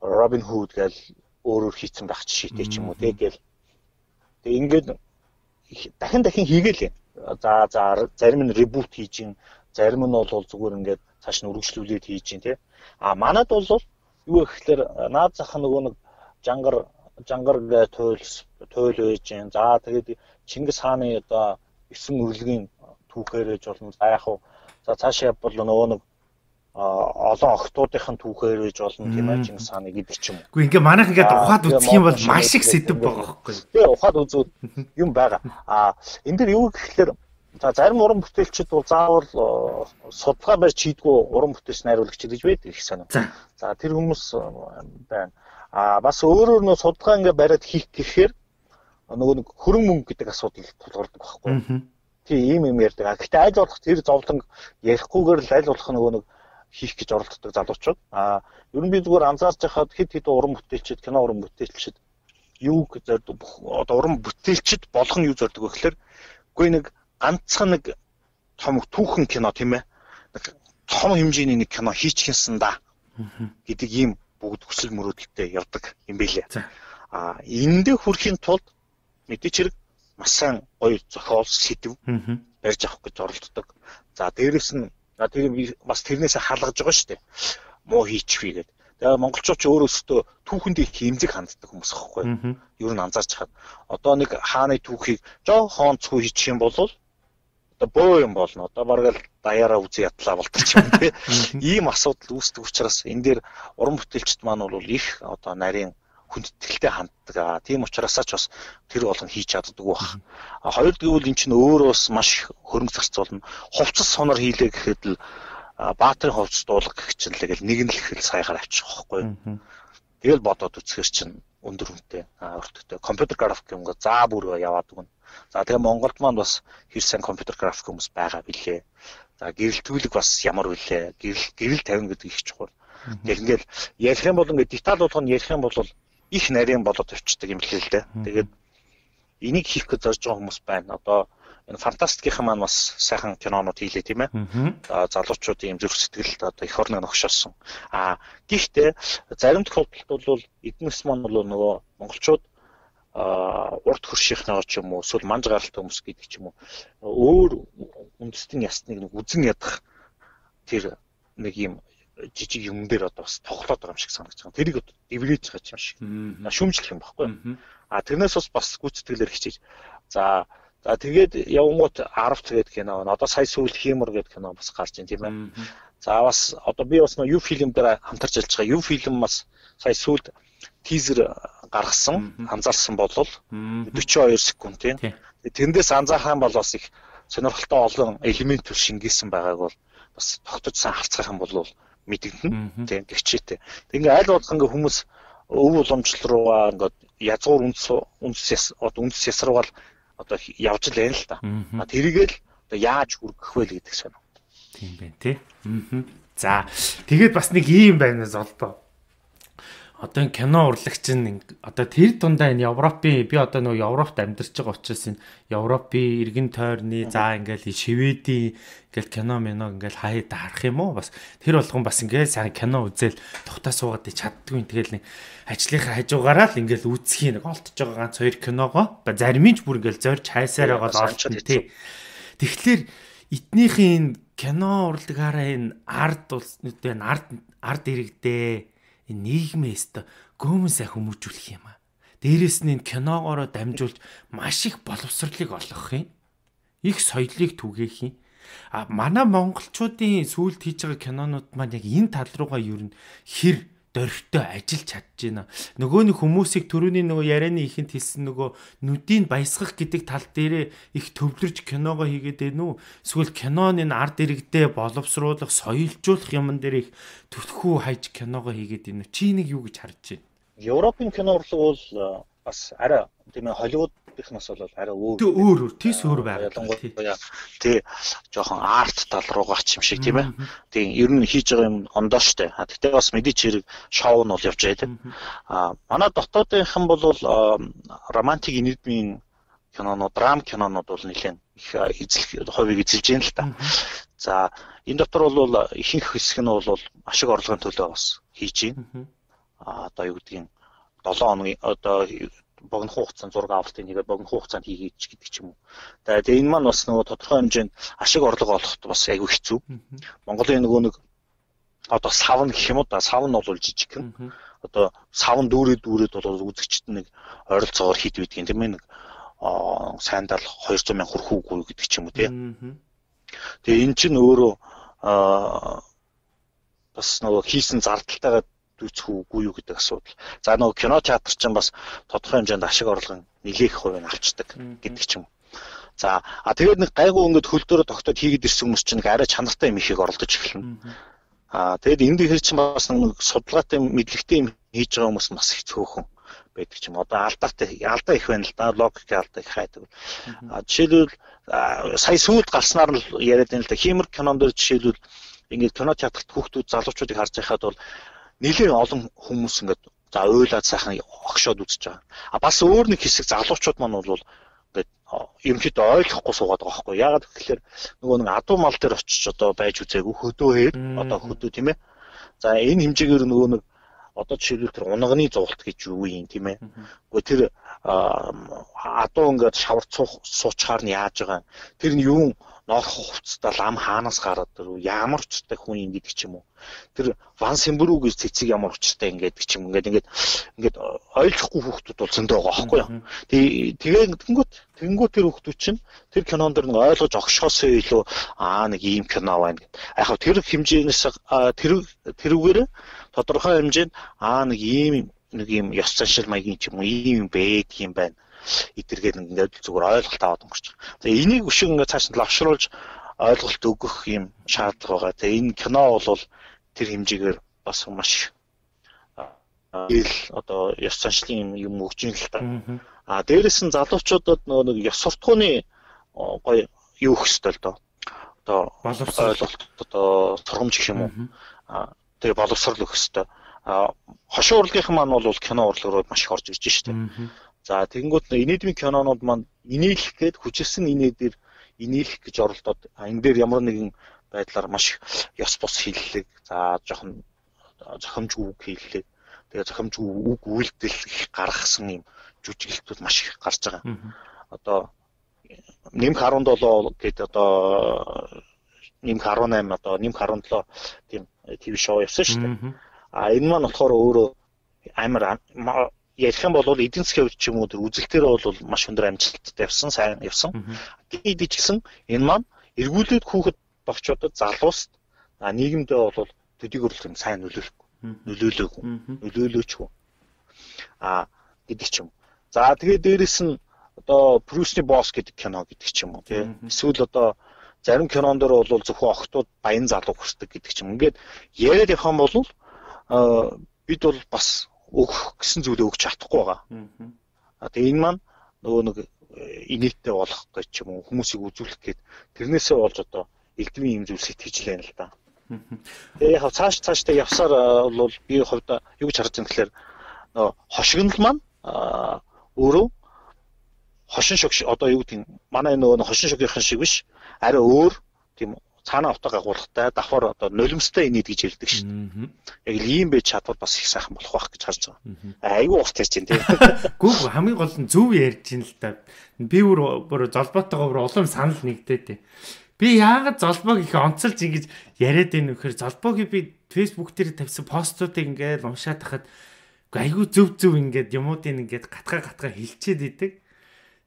Робин Худ гээл өөрөөр хийцэн байх жишээтэй ч юм уу тэгэл ингээд дахин хийгээл. За зарим нь ребут хийж ин зарим нь бол зүгээр ингээд цааш нь үргэлжлүүлээд хийж ин тий. Манад бол юу гэхээр наад зах нөгөө нэг жангар гэ туйл байж ин. За тэгээд Чингис хааны одоо 9 өрлөгийн түүхээр ээж болно. За яг за цаашаа бол нөгөө нэг олон охтуудынхын түүхээр ээж болно тийм ээ Чингис хааны гэдэг ч юм уу. Гэхдээ ингээ манайх ингээд ухаад үзэх юм бол маш их сэдв байгаа байхгүй. Тэгээ ухаад үзүүд юм байгаа. Энэ дэр юу гэхээр за зарим уран бүтээлчид бол заавал судалгаа барьж хийдгүү уран бүтээлч найруулагч гэж байдаг их санаа. За тэр хүмүүс байна. Бас өөрөөр нь судалгаа ингээ бариад хийх гэхээр нөгөө нэг хөрөн мөнгө гэдэг асуудал тулгардаг байхгүй. Тийм юм ярьдаг. Гэхдээ аль болох тэр зовлон ярихгүйгээр л аль болох нөгөө нэг хийх гэж оролддог залуучууд. Ер нь би зүгээр анзаарч байхад хэд уран бүтээлчид, кино уран бүтээлчид юу зорддог одоо уран бүтээлчид болох нь юу зорддог вэ гэхээр үгүй нэг ганцхан нэг том түүхэн кино тийм ээ. Нэг том хэмжээний нэг кино хийчихсэн да гэдэг ийм бүгд хүсэл мөрөөдөлтэй явдаг юм билээ. Эндээ хүрэхийн тулд мэдээч хэрэг маш сайн гоё зохиол сэдв барьж авах гэж оролддог. За дээрэс нь тэгээд бас тэрнээсээ халгаж байгаа шүү дээ. Муу хийчихвээ гэдэг. Тэгээ монголчууд ч өөрөөсөө түүхэндээ хэмзэг ханддаг хүмүүс аахгүй. Ер нь анзаарч хаад одоо нэг хааны түүхийг жоохон цүү хийчих юм бол одоо бөө юм болно. Одоо бараг л даяараа үзий ядлаа болчих юм тий. Ийм асуудал үүсдэг учраас энэ дээр уран бүтээлчд маань бол их одоо нарийн хүндэтгэлтэй ханддаг. Тийм учраас ч бас тэр болгон хийж чаддаг байх. Хоёр гэвэл эн чинь өөрөөс маш хөрөнгө зарцуулна. Хувцас сонор хийлээ гэхэд л баатрын хувцас дуулах гэх чинь л нэг нь л их сайгаар авчих واخгүй. Тэгэл бодоод үзэхэр чинь өндөр үнэтэй өртөгтэй компьютер график юм гээ заа бүр яваад өгнө. За тэгээ Монголд маань бас хэр сайн компьютер график хүмүүс байгаа билээ. За гэрэлтүүлэг бас ямар вүлээ. Гэрэл тавина гэдэг их чухал. Тэгэл ингээл ярих юм бол ингээд деталь болгоно ярих юм бол их нарийн болоод тавьчихдаг юм лээ л дээ. Тэгээд энийг хийх гэж зорж байгаа хүмүүс байна. Одоо энэ фантастикийн маань бас сайхан кинонууд хийлээ тийм ээ. Залуучуудын юм зүрх сэтгэл одоо эх орныг огшоосон. Гэхдээ зарим тохиолдолд бол эднэс маань бол нөгөө монголчууд урт хөршийнхнээ ч юм уу эсвэл манж гаралтай хүмүүс гэдэг ч юм уу өөр үндэстэн ясныг нэг үзэн ядах тэр нэг юм жижиг юм дээр одоо бас тоглоод байгаа юм шиг санагдаж байна. Тэрийг одоо дэвлэж байгаа юм шиг. Шүмжлэх юм баггүй. Тэрнээс бас гүйцэтгэлээр хичээж. За тэгээд явгонгууд 10 тэгээд кино. Одоо сая сүүл хиймэр гэдэг кино бас гарч ийн тийм ээ. За бас одоо би бас юу фильм дээр хамтарч ажиллаж байгаа. Юу фильм бас сая сүүлд тизер гаргасан, анзаарсан бол 42 секунд тийм. Тэндээс анзаарах юм бол бас их сонирхолтой олон элемент шингээсэн байгааг бол бас тогтцсон харцгаах юм бол мэдэгдэн тийм гэрчээтэй. Ингээ аль болох ингээ хүмүүс өв уламжлал руугаа ингээ язгуур үндэс ясруугаал одоо явж л байна л та. Тэрийгэл одоо яаж хүргэх вэ гэдэг сонь. Тийм байна тий. За тэгээд бас нэг юм байна золдоо. Одоо энэ кино урлагч нь одоо тэр дундаа энэ Европын би одоо нөгөө Европт амьдарч байгаа учраас энэ Европын иргэн тойрны за ингээл Шведийн ингээл кино ингээл хаяад харах юм уу бас тэр болгон бас ингээл сайн кино үзэл тухтаа суугаад чаддгүй тэгэл нэг ажлынхаа хажуугаараа л ингээл үзхийн нэг олдож байгаа ганц хоёр киногоо зарим нь ч бүр ингээл зорж хайсаар байгаа л олдсон тий. Тэгэхээр эднийхэн кино урлагаараа энэ ард иргэдээ нийгмээс гөөмөн сайн хүмүүжүүлэх юм аа. Дээрээс нь энэ киногоороо дамжуулж маш их боловсролыг олгох юм. Их соёлыг түгээх юм. Манай монголчуудын сүүлд хийж байгаа кинонууд маань яг энэ тал руугаа юу н хэр дөрвтэй ажиллаж чадж байна. Нөгөө нэг хүмүүсийг төрөний нөгөө ярианы ихэнд хэлсэн нөгөө нүдийг баясгах гэдэг тал дээрээ их төвлөрж киногоо хийгээд байна уу? Эсвэл киноны ард иргэдээ боловсруулах, соёлжуулах юмн дээр их төлхөө хайж киногоо хийгээд байна уу? Чи нэг юу гэж харж байна? Европын кино урлаг бол бас арай тийм ээ Холливуудынхнаас бол арай өөр тийс өөр байгаа. Тий жоохон арт тал руугаа ч юм шиг тийм ээ. Тийм ер нь хийж байгаа юм ондоо штэ. Тэгтээ бас мэдээч хэрэг шоу нь бол явж байгаа тийм. Манай дотоодынхан бол романтик энергийн кинонууд, драм кинонууд бол нэлээд их эзлэх хувийг эзэлж байна л та. За энэ дотор бол ихэнх хэсэг нь бол ашиг орлогын төлөө бас хийж байна. Одоо юу гэдгийг 7 хоногийн одоо богино хугацаанд зураг авалтын нэгээр богино хугацаанд хийгээч гэдэг ч юм уу. Тэгээд энэ маань бас нөгөө тодорхой хэмжээнд ашиг орлого олоход бас айгүй хэцүү. Монголын нөгөө нэг одоо савн гэх юм уу да савн бол жижиг юм. Одоо савн дүүрээд бол үзэгчд нэг ойролцоогоор хит байдгийн тийм ээ нэг сайндал 200 мянга хүрэх үгүй гэдэг ч юм уу тийм. Тэгээ эн чинь өөрөө бас нөгөө хийсэн зардалтайгаа үзэх үгүй юу гэдэг асуудал. За нөгөө кино театр чинь бас тодорхой хэмжээнд ашиг орлогын нэлээх хувийг авчдаг гэдэг ч юм. За тэгээд нэг гайгүй ингээд хөл дөрөв тогтоод хийгээд ирсэн хүмүүс чинь арай чанартай юм ихийг оролдож эхэлнэ. Тэгээд энэ дээр чинь бас нэг судалгаатай мэдлэгтэй юм хийж байгаа хүмүүс бас их цөөхөн байдаг ч юм. Одоо алдаа их байна л да. Логикийн алдаа их хайдаг. Жишээлбэл сая сүүлд гарснаар нь яриад байна л да. Хиймэр кинон дээр жишээлбэл ингээд кино театрт хүүхдүүд залуучуудыг харж байхад бол нэлээд олон хүмүүс ингээд за уйлаад сайхан огшоод үзэж байгаа. Бас өөр нэг хэсэг залуучууд маань бол ингээд ерөнхийдөө ойлгохгүй суугаад байгаа байхгүй. Яагаад гэвэл нөгөө нэг адуу мал дээр очиж одоо байж үзээгүй хөдөө одоо хөдөө тийм ээ. За энэ хэмжээгээр нөгөө нэг одоо жишээлбэл тэр унганы зугалт гэж юу юм тийм ээ. Гэхдээ тэр адуу ингээд шавар суучаар нь яаж байгаа. Тэр нь юу норх хувцастаа лам хаанаас гараад тэр ямар учиртай хүн юм гэдэг ч юм уу. Тэр Ван Сэмбрүү гэж цэцэг ямар учиртай ингээд ч юм ингээд ойлгохгүй хүүхдүүд бол зөндөө байгаа байхгүй юу. Тэгээ тэнгуут тэр хүүхдүүд чинь тэр кинонд дэр нэг ойлгож огшоосоо илүү нэг ийм кино байна гэд. Яг тэр хэмжээнээс тэрүүгээр тодорхой хэмжээнд нэг ийм ёс заншил маягийн ч юм уу ийм байдаг юм байна. Идэргээд ингээд зүгээр ойлголт аваад өнгөрч байгаа. Тэгээ энийг өшиг ингээд цааш нь лавшруулж ойлголт өгөх юм шаардлага байгаа. Тэгээ энэ кино бол тэр хэмжээгээр бас маш ил одоо ёс заншлын юм өгч ин л та. Дээрээс нь залуучуудад нэг ёс суртахууны гоё юу өгөх ёстой л доо. Одоо ойлголт одоо сургамж гэх юм уу. Тэгээ боловсрол өгөх ёстой. Хошин урлагийнхан маань бол кино урлаг руу маш их орж ирж штэ. За тэгэнгүүт инээдмийн кинонууд маань инээлэх гээд хүчилсэн инээдээр инээлэх гэж оролдоод энэ дээр ямар нэгэн байдлаар маш ёс бус хийллэг. За жоохон зохимжгүй үг хийллэг. Тэгээ зохимжгүй үг үйлдэл их гаргасан юм жүжиглэлтүүд маш их гарч байгаа. Одоо нэмх 17 гэдэг одоо нэмх 18 одоо нэмх 17 тийм ТV шоу явсан шүү дээ. Энэ маань болохоор өөрөө амар ярих юм бол эдийн засгийн хувьд ч юм уу тэр үзэлтээр бол маш өндөр амжилттай явсан, сайн явсан. Гэвч гэсэн энэ маань эргүүлээд хүүхэд багчуудад залуust нийгэмдээ бол төдийг өрлөх сайн нөлөөлөөгүй гэдэг ч юм. За тэгээд дээрэс нь одоо Брюсний босс гэдэг кино гэдэг ч юм уу тий. Эсвэл одоо зарим кинон дээр бол зөвхөн охтууд баян залуу хүсдэг гэдэг ч юм. Ингээд яриад явах юм бол бид бол бас өгөх гэсэн зүйлээ өгч чадахгүй байгаа. Тэгээ энэ маань нөгөө нэг инээдтэй болох гэж ч юм уу хүмүүсийг үзүүлэх гээд тэрнээсээ болж одоо элдвийн юм зүйл сэтгэж лээ л да. Тэгээ яг цаашдаа явсаар бол би хувьдаа юу гэж харж байгаа юм гэхээр нөгөө хошигнол маань өөрөө хошин шог одоо юу гэдэг манай нөгөө хошин шогийнхан шиг биш арай өөр тийм цаанаа утга агуулгатай давхар одоо нулимстай инээд гэж хэлдэг шүү дээ. Яг л ийм байж чадвар бас их сайхан болох байх гэж харж байгаа. Айгүй урт ярьж байна тийм. Гүг хамгийн гол нь зөв ярьж ин л та. Би бүр золбоотойгоо улам санал нэгдээд. Би яагаад золбоог их онцолж ингэж яриад байна вэ гэхээр золбоогийн би Facebook дээр тавьсан постуудыг ингээд уншаад тахад айгүй зөв ингээд юмуудыг ингээд гатгаа хэлчихэд идэг.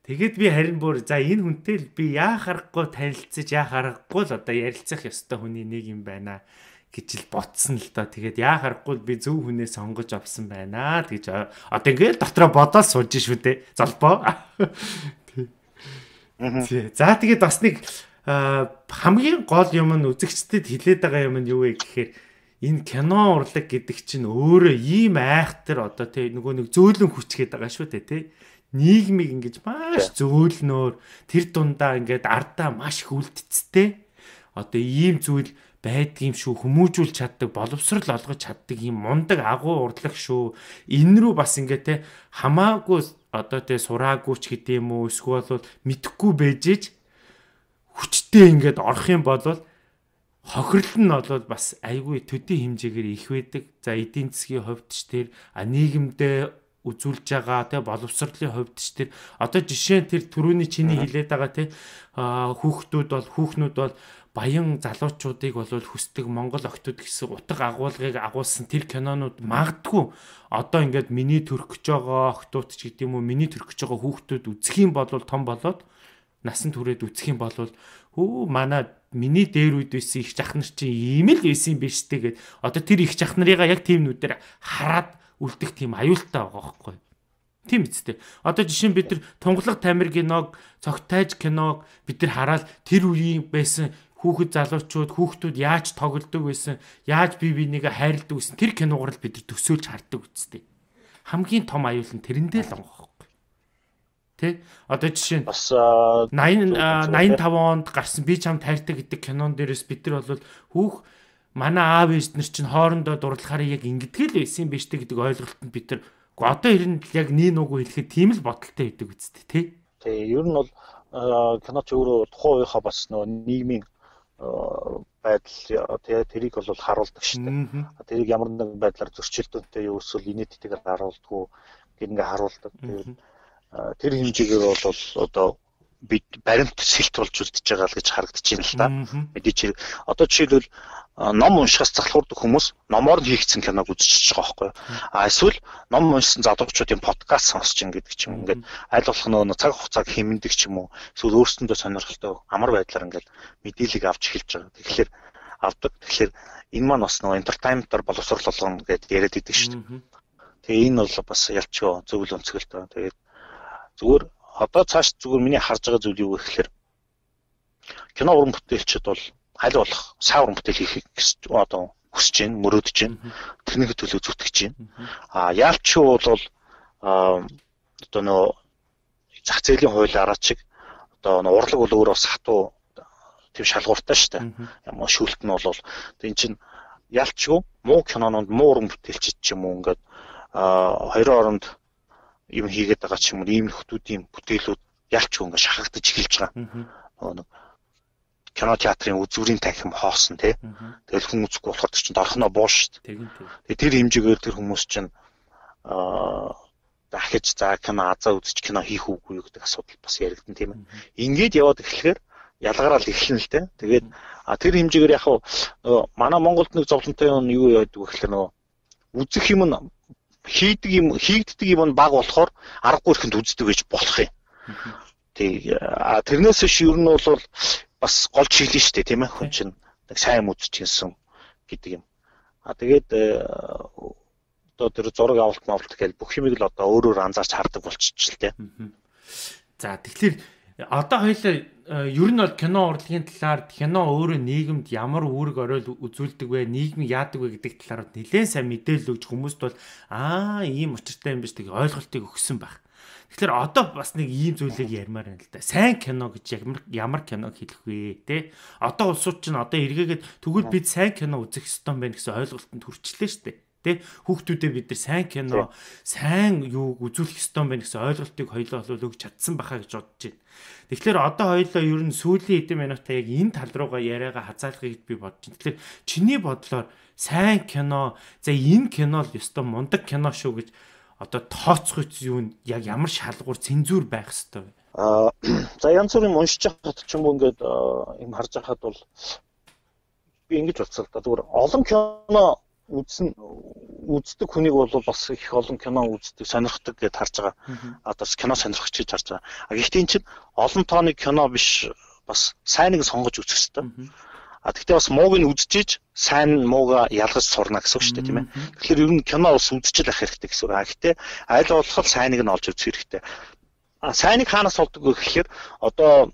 Тэгээд би харин бүр за энэ хүнтэй л би яа харахгүй танилцаж яа харахгүй л одоо ярилцах ёстой хүний нэг юм байна гэж л ботсон л доо. Тэгээд яа харахгүй би зөв хүнээ сонгож авсан байна гэж одоо ингээд дотроо бодоод сууж шүү дээ. Золбоо. За тэгээд бас нэг хамгийн гол юм нь үзэгчдэд хилээд байгаа юм нь юу вэ гэхээр энэ кино урлаг гэдэг чинь өөрөө ийм айхтар одоо тий нөгөө нэг зөөлөн хүчгээд байгаа шүү дээ тий. Нийгмийг ингэж маш зөөлнөөр тэр дундаа ингээд ардаа маш их үлдцтэй одоо ийм зүйл байдгийм шүү хүмүүжүүл чаддаг боловсрал олгож чаддаг ийм мундаг агуу урлаг шүү энэ рүү бас ингээд те хамаагүй одоо те сураагүй ч гэдэг юм уу эсвэл бол мэдхгүй бэжэж хүчтэй ингээд орох юм бол хохирол нь бол бас айгүй төдий хэмжээгээр их байдаг. За эдийн засгийн хувьд ч тэр нийгэмдээ үзүүлж байгаа те боловсролын хувьд ч тэр одоо жишээ нь тэр түрүүний чиний хэлээд байгаа те хүүхнүүд бол баян залуучуудыг бол хүсдэг Монгол охтууд гэсэн утга агуулгыг агуулсан тэр кинонууд магадгүй одоо ингээд миний төрөх гэж байгаа охтууд ч гэдэг юм уу миний төрөх гэж байгаа хүүхдүүд үзэх юм бол том болоод насан туршид үзэх юм бол манай миний дээр үед байсан их жахнар чинь ийм л байсан юм биш тэгээд одоо тэр их жахнарыгаа яг тийм нүдээр хараад үлдэх тийм аюултай байгаа байхгүй. Тийм үстэй. Одоо жишээ нь бид нар Тунгалаг Тамир киног, Цогтайж киног бид нар хараад тэр үеийн байсан хүүхдүүд яаж тоглодог байсан, яаж бие бинийгээ хайрладаг байсан тэр киногоор л бид нар төсөөлж хардаг үстэй. Хамгийн том аюул нь тэрэндээ л байгаа байхгүй. Тэ? Одоо жишээ нь бас 85 онд гарсан Би чамд хайртай гэдэг кинон дээрээс бид нар бол манай аав ээж нар чинь хоорондоо дурлахаар яг ингэдэг л байсан юм биш үү гэдэг ойлголтод бид нар одоо хэрэн яг нин уггүй хэлэхэд тийм л бодолтой байдаг үсттэй тий. Тэгээ ер нь бол киноч өөрөө тухайн үеийнхаа бас нөгөө нийгмийн байдал тэрийг бол харуулдаг шүү дээ. Тэрийг ямар нэгэн байдлаар зөрчилдөөнтэй юу эсвэл инээдтэйгээр харуулдаггүй гэх ингээ харуулдаг. Тэр хэмжээгээр бол одоо бид баримт сэлт болж үлдэж байгаа л гэж харагдаж байна л да. Мэдээч одоо жишээлбэл ном уншихаас залхуурдаг хүмүүс номоор нь хийгдсэн киног үзчихэж байгаа байхгүй. Эсвэл ном уншсан залуучуудын подкаст сонсч ингээд ч юм ингээд аль болох нөгөө цаг хугацааг хэмнэдэг ч юм уу. Эсвэл өөрсөндөө сонирхолтой амар байдлаар ингээд мэдээллийг авч эхэлж байгаа. Тэгэхээр авдаг. Тэгэхээр энэ маань бас нөгөө entertainment-аар боловсрол болгоно гэдээ яриад идэг шүү дээ. Тэгээ энэ бол бас ялчгүй зөвлө өнцгөлтэй. Тэгээд зүгээр одоо цааш зүгээр миний харж байгаа зүйл юу гэхээр кино уран бүтээлчд бол аль болох сайн уран бүтээл хийх одоо хүсэж байна, мөрөөдөж байна. Тэрнийг төлөө зүтгэж байна. Яалчгүй бол одоо нөө зах зээлийн хуулиараа чиг одоо нөө урлаг бол өөрөө бас хатуу тийм шалгууртай шүү дээ. Ямар шүүлт нь бол энэ чинь ялчгүй муу кинонууд муу уран бүтээлчд ч юм уу ингээд хоёрын оронд юм хийгээд байгаа ч юм уу ийм хүмүүсийн бүтээлүүд ялчгүй ингээд шахагдаж эхэлж байгаа. Нэг кино театрын үзүүрийн танхим хоосон тий. Тэгэл хүн үзэхгүй болохоор чинь дорхоноо бууш шүү дээ. Тэгээ тэр хэмжээгээр тэр хүмүүс чинь дахиж за кино азаа үзэж кино хийх үгүй юу гэдэг асуудал бас яригдсан тийм ээ. Ингээд яваад эхлэхээр ялгараад эхэлнэ л дээ. Тэгээд тэр хэмжээгээр яг манай Монголд нэг зовлонтой юм юу яадаг вэ гэхээр нөгөө үзэх юм нь хийгддэг юм нь баг болохоор аргагүй ихэнд үздэг гэж болох юм. Тэрнээс биш ер нь бол бас гол чиглэн шүү дээ тийм ээ. Хүн чинь нэг сайн үзэж гинсэн гэдэг юм. Тэгээд одоо тэр зураг авалт гэхэл бүх юмыг л одоо өөрөөр анзаарч хардаг болчихчих л дээ. За тэгэхээр одоо хоёлаа ер нь бол кино урлагийн талаар кино өөрөө нийгэмд ямар үүрэг оройл үзүүлдэг вэ, нийгмийг яадаг вэ гэдэг талаар нэлээд сайн мэдээлэл өгч хүмүүст бол ийм учиртай юм биш гэж ойлголтыг өгсөн байх. Тэгэхээр одоо бас нэг ийм зүйлийг ярмаар байна л да. Сайн кино гэж ямар киног хэлэх вэ те? Одоо улсууд чинь одоо эргээгээд тэгвэл бид сайн кино үзэх ёстой юм байна гэсэн ойлголтод хүрчлээ шүү дээ. Тэ хүүхдүүдэд бид нар сайн кино, сайн юуг үзүүлэх ёстой юм байна гэсэн ойлголтыг хоёлоо бол өгч чадсан бахаа гэж бодож байна. Тэгэхээр одоо хоёлоо ер нь сүүлийн хэдэн минутаа яг энэ тал руугаа яриагаа хазаалахыг би бодож байна. Тэгэхээр чиний бодлоор сайн кино, за энэ кино л ёстой мундаг кино шүү гэж одоо тооцох юу нь яг ямар шалгуур цензур байх ёстой вэ? За янз бүрийн уншиж хахад ч юм уу ингээд юм харж хахад бол би ингэж бодсоо л да. Зүгээр олон кино үздэг хүнийг бол бас их олон кино үздэг, сонирхдаг гэж харж байгаа. Одоо кино сонирхч гэж харж байгаа. Гэхдээ энэ чинь олон тооны кино биш, бас сайныг сонгож үзэх хэрэгтэй. Гэхдээ бас мууг нь үзчихэж сайн муугаа ялгаж сурна гэсэн үг шүү дээ, тийм ээ. Тэгэхээр ер нь кино бас үзчихэл ах хэрэгтэй гэсэн үг. Гэхдээ аль болох сайныг нь олж үзэх хэрэгтэй. Сайныг хаанаас олдог вэ гэхээр одоо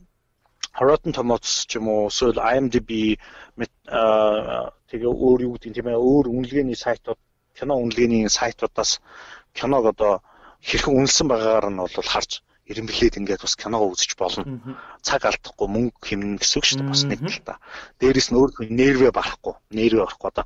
Rotten Tomatoes ч юм уу, эсвэл IMDb тэгээ өөр юу гэдэг тийм ээ, өөр үнэлгээний сайтууд, кино үнэлгээний сайтуудаас киног одоо хэрхэн үнэлсэн байгаагаар нь бол харж ирэмблээд ингээд бас киногоо үзэж болно. Цаг алдахгүй мөнгө хэмнэн гэсэн үг шүү дээ, бас нэг талаа. Дээрээс нь өөр нервээ барахгүй одоо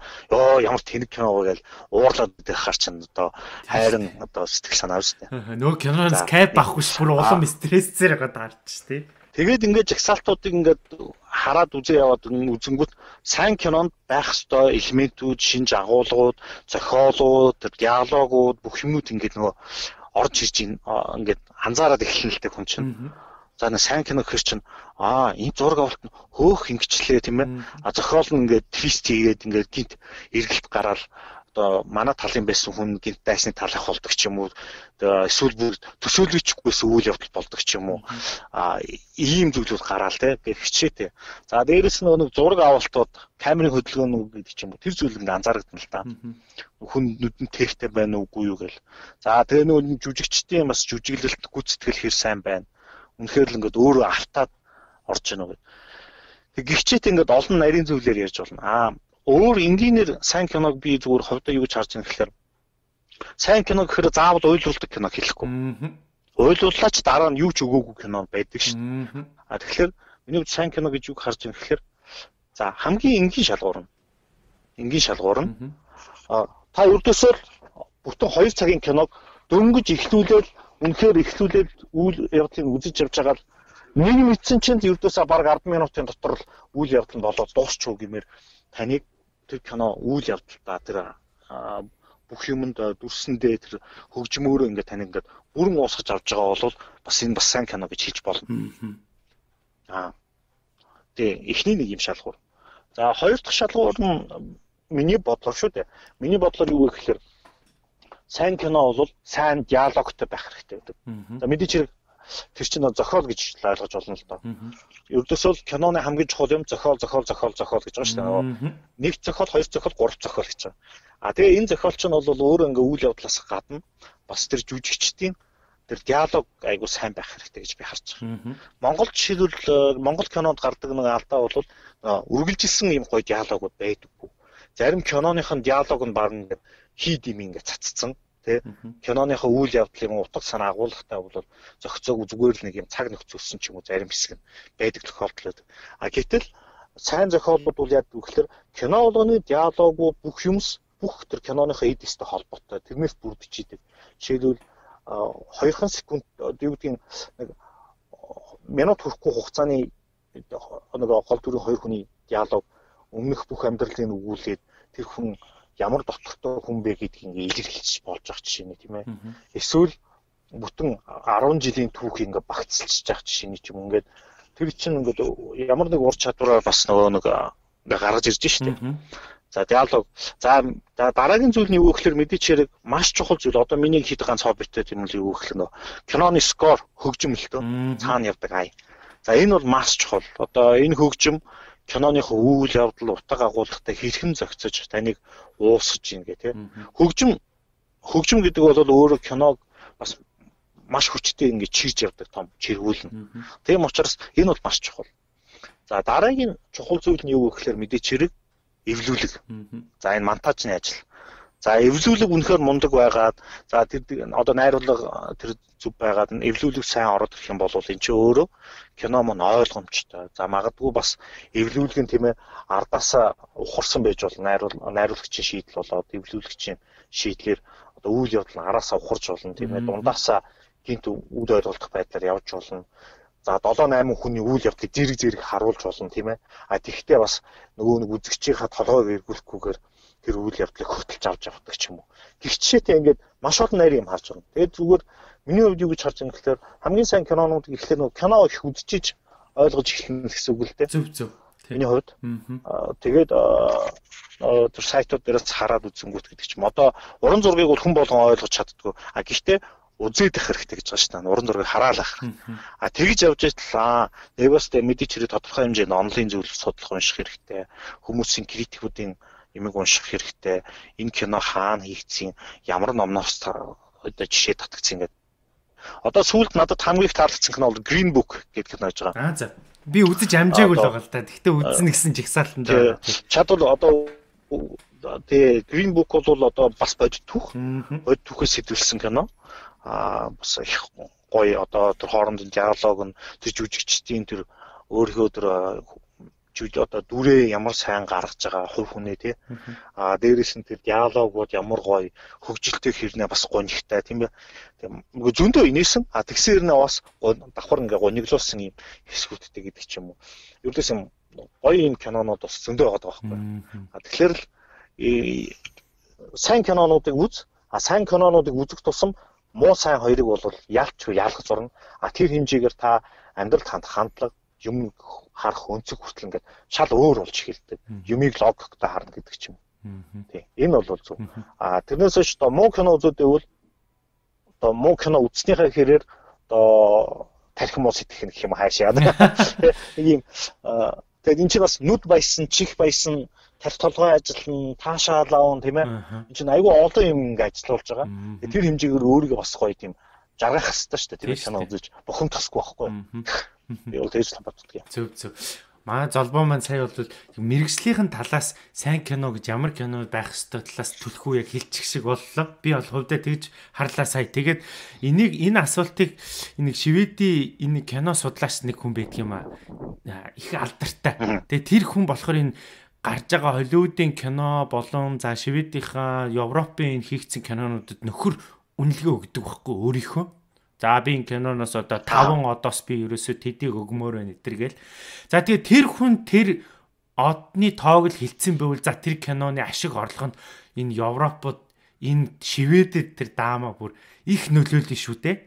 ямар тэнэг кино вэ гэж уурлаад идэх хар чинь одоо хайрын одоо сэтгэл санаа шүү дээ. Нөгөө киноноос кайп авахгүй ш бүр улам стрессээр гадаарч ш тий. Тэгээд ингээд жагсаалтуудыг ингээд хараад үзээ яваад үзэнгүүт сайн кинонд байх ёстой элементүүд, шинж агуулгууд, зохиолууд, диалогууд бүх юмуд ингээд нөгөө орж ирж ингээд анзаараад эхэлнэ л дээ хүн чинь. За нэг сайн кино гэхэр чинь энэ зураг авалт нь хөөх ингэчлээ тийм ээ. Зохиол нь ингээд твист хийгээд ингээд гинт эргэлт гараад одоо манай талын байсан хүн гинт дайсны талах болдог ч юм уу. Эсвэл бүр төсөөлөгчгүйс үйл явдал болдог ч юм уу. Ийм зүйлүүд гараал те хичээтэй. За дээрэс нь нэг зураг авалтууд, камерын хөдөлгөөнүүд гэдэг ч юм уу. Тэр зүйл ингээд анзаарагдана л да. Хүн нүдэн тэртэй байна уугүй юу гэл. За тэгээ нөгөө жүжигчдийн бас жүжиглэлт гүйцэтгэл хэр сайн байна. Үнэхээр л ингээд өөрөө автаад орж ийнө гэдэг. Тэг гихчээт ингээд олон нарийн зүйлээр ярьж болно. Өөр энгийнээр сайн киног би зүгээр ховдоо юу гэж харж байгаа гэхээр сайн кино гэхээр заавал уйлруулдаг кино хэлэхгүй. Уйлрууллаач дараа нь юу ч өгөөгүй кино байдаг шүү дээ. Тэгэхээр миний хувьд сайн кино гэж юу харж байгаа гэхээр за хамгийн энгийн шалгуур нь та өрдөөсөө бүтэн 2 цагийн киног дөнгөж эхлүүлээд үйл явдлыг үзэж явж байгаа л нэг мэдсэн чинь өрдөөсөө бараг 10 минутын дотор л үйл явдал нь болоод дуусчихв гэмээр таныг тэр кино үйл явдалтаа тэр бүх юмд дүрсэндээ тэр хөгжмөөрөө ингээд тань ингээд бүрэн уусгаж авч байгаа бол бас энэ бас сайн кино гэж хэлж болно. Тэгээ эхний нэг юм шалгуур. За хоёр дахь шалгуур нь миний бодлоор шүү дээ. Миний бодлоор юу вэ гэхээр сайн кино бол сайн диалогтой байх хэрэгтэй гэдэг. За мэдээч хэрэг тэр чинь зохиол гэж ойлгож болно л доо. Ердөөсөө л киноны хамгийн чухал юм зохиол гэж байгаа шүү дээ. Нэг зохиол, хоёр зохиол, гурав зохиол гэж байгаа. Тэгээ энэ зохиол чинь бол өөрөө ингээ үйл явдлаас гадна бас тэр жүжигчдийн тэр диалог айгуу сайн байх хэрэгтэй гэж би харж байгаа. Монголд жишээлбэл Монгол кинонд гардаг нэг алдаа бол үргэлжилсэн юм гоё диалогууд байдаггүй. зарим киноныхын диалог нь баг ингээд хийд юм ингээд цацсан тий. Киноныхаа үйл явдлын утга санаа агуулгатай бол зохицоог зүгээр л нэг юм цаг нөхцөлсөн ч юм уу зарим хэсэг нь байдаг тохиолдол. Гэтэл сайн зохиолууд бол яг үгээр кино болгоны диалогууд бүх юмс бүх тэр киноныхаа эд эстэй холбоотой. Тэрнээс бүрдэж идэг. Жишээлбэл 2 секунд юу гэдгийг нэг минут хүрэхгүй хугацааны нэг гол дүрийн 2 хүний диалог өмнөх бүх амьдралын өгүүлээд тэр хүн ямар дотортой хүн бэ гэдгийг илэрхийлж болж байгаа жишээ нь тийм ээ. Эсвэл бүтэн 10 жилийн түүх ингээ багцлж байгаа жишээ нь ч юм ингээд тэр чинь ингээд ямар нэг ур чадвараар бас нөгөө нэг ингээ гаргаж ирж штэ. За диалог. За дараагийн зүйл нь юу гэхээр мэдээч хэрэг маш чухал зүйл. Одоо миний хэд ганц хоббитэй юм л юу гэхээр нөө киноны скор хөгжим л төө цаана явдаг ай. За энэ бол маш чухал. Одоо энэ хөгжим киноныхоо үйл явдал утга агуулгатай хэрхэн зохицож таныг уусгаж ийн гэх тийм. Хөгжим гэдэг бол өөрөө киног бас маш хүчтэй ингэж чирж явдаг том чиргүүлнэ. Тийм учраас энэ бол маш чухал. За дараагийн чухал зүйл нь юу гэхээр мэдээч хэрэг эвлүүлэг. За энэ монтажны ажил. За эвлүүлэг үнэхээр мундаг байгаад за тэр одоо найруулга тэр зүв байгаад эвлүүлэг сайн ороод ирэх юм бол энэ ч өөрөө кино мөн ойлгомжтой. За магадгүй бас эвлүүлэг нь тийм ээ ардаасаа ухарсан байж болно. Найруулагчийн шийдэл болоод эвлүүлэгчийн шийдлэр одоо үйл явдал нь араасаа ухарж болно тийм ээ. Дундаасаа гинт үйл ойлголтох байдлаар явж болно. За 7-8 хүний үйл явдлыг зэрэг харуулж болно тийм ээ. Тэгэхдээ бас нөгөө нэг үзэгчийнхаа толгойг эргүүлэхгүйгээр тэр үйл явдлыг хөтөлж авч явдаг ч юм уу. Гихчээтэй ингээд маш олон найр юм харж байна. Тэгээд зүгээр миний хувьд юу гэж харж байгаа юм гэхээр хамгийн сайн кинонууд гэхлээр нөгөө кино их үзчихэж ойлгож эхэлнэ гэсэн үг л дээ. Зөв. Миний хувьд. Тэгээд тэр сайтууд дээрээс хараад үзэнгүүт гэдэг ч юм. Одоо уран зургийг бол хүн болгон ойлгож чаддгүй. Гэхдээ үзээд их хэрэгтэй гэж байгаа шүү дээ. Уран зургийг хараалах. Тэгж явж итэл нэг бас мэдээч хэрэг тодорхой хэмжээнд онлайн зүйл судлах унших хэрэгтэй. Хүмүүсийн критикүүдийн юмыг унших хэрэгтэй. Энэ кино хаана хийгдсэн, ямар номноос одоо жишээ татгдсан гэдэг. Одоо сүүлд надад хамгийн их таалагдсан кино бол Green Book гэдэг кино гэж байгаа. За. Би үзэж амжаагүй л байгаа л та. Гэхдээ үзсэн гэсэн жигсаалтанд байгаа. Чад бол одоо тэгээ Green Book бол одоо бас бодит түүхээс сэтвэлсэн кино. Бас их гоё одоо тэр хоорондын диалог нь тэр жүжигчдийн тэр өөрийнхөө тэр одоо дүрээ ямар сайн гаргаж байгаа хувь хүнээ тий. Дээрээс нь тэр диалогууд ямар гоё хөгжилтэй хэрнээ бас гонигтай тийм ээ. Нөгөө зөндөө инээсэн. Тэгсээр нэ бас давхар ингээ гониглуулсан юм хэсгүүдтэй гэдэг ч юм уу. Ердөөс юм гоё юм кинонууд бас зөндөө байгаа байхгүй. Тэгэхээр л сайн кинонуудыг үз. Сайн кинонуудыг үзэх тусам муу сайн хоёрыг бол яалчгүй яалах зурна. Тэр хэмжээгээр та амьдралд хандлага юм харах өнцөг хүртэл ингээд шал өөр болж эхэлдэг. Юмыг логиктой харна гэдэг ч юм. Тий. Энэ бол зөв. Тэрнээс ч одоо муу кино үзүүдэвэл одоо муу кино үзснийхаа хэрээр одоо тархин муу сэтгэх гэх юм хаашаа. Нэг юм тэгээд энэ чинь бас нүд баясан, чих баясан, тарих толгой ажиллана, таашаал аавн тийм ээ. Энэ чинь айгүй олон юм ингээд ажиллаулж байгаа. Тэр хэмжээгээр өөрийгөө бас гоё тийм жаргах хэрэгтэй шүү дээ. Тэр кино үзэж бухим тасгүй байхгүй. Би бол тэгж боддог юм. Зөв. Манай золбоо маань сая бол мэрэгжлийнхэн талаас сайн кино гэж ямар кино байх ёстой талаас түлхүү яг хэлчих шиг боллоо. Би бол хувьдаа тэгж харлаа сая. Тэгээд энэ асуултыг энэ Шведийн энэ кино судлаач нэг хүн байдаг юм аа. Их алдартай. Тэгээд тэр хүн болохоор энэ гарч байгаа Холливуудын кино болон за Шведийнхаа Европын хийгдсэн кинонуудад нөхөр үнэлгээ өгдөг байхгүй өөрийнхөө. За би энэ киноноос одоо 5 одоос би ерөөсөө тэдийг өгмөр байна гэтэргээл. За тэгээ тэр хүн тэр одны тоог л хилцсэн байвал за тэр киноны ашиг орлого нь энэ Европод энэ Шведэд тэр даамаа бүр их нөлөөлнө шүү дээ.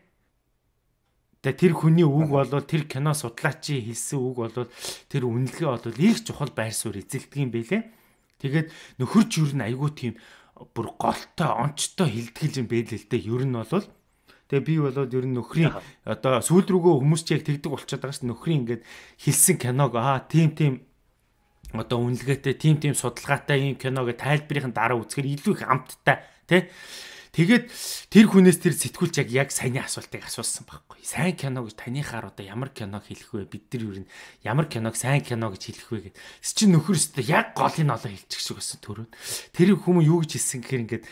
Тэгээ тэр хүний үг болвол тэр кино судлаачийн хэлсэн үг болвол тэр үнэлгээ болвол их чухал байр суурь эзэлдэг юм байлээ. Тэгээд нөхөрч юу н айгуу тийм бүр голтой онцтой хилдгэлж юм байл л дээ. Ер нь болвол тэгээ би болоод ер нь нөхрийн одоо сүүл рүүгөө хүмүүс ч яг тэгдэг болчиход байгаа шүү. Нөхрийн ингээд хэлсэн киног тийм одоо үнэлгээтэй тийм судалгаатай юм киног тайлбарын дараа үзэхээр илүү их амттай тий. Тэгээд тэр хүнээс тэр сэтгүүлч яг саяны асуултыг асуусан байхгүй. Сайн кино гэж танихаар одоо ямар киног хэлэх вэ? Бид нар юу н ямар киног сайн кино гэж хэлэх вэ гэдэг. Чи нөхөр өстө яг голын олоо хэлчих шиг байсан төрөө. Тэр хүмүүс юу гэж хэлсэн гэхээр ингээд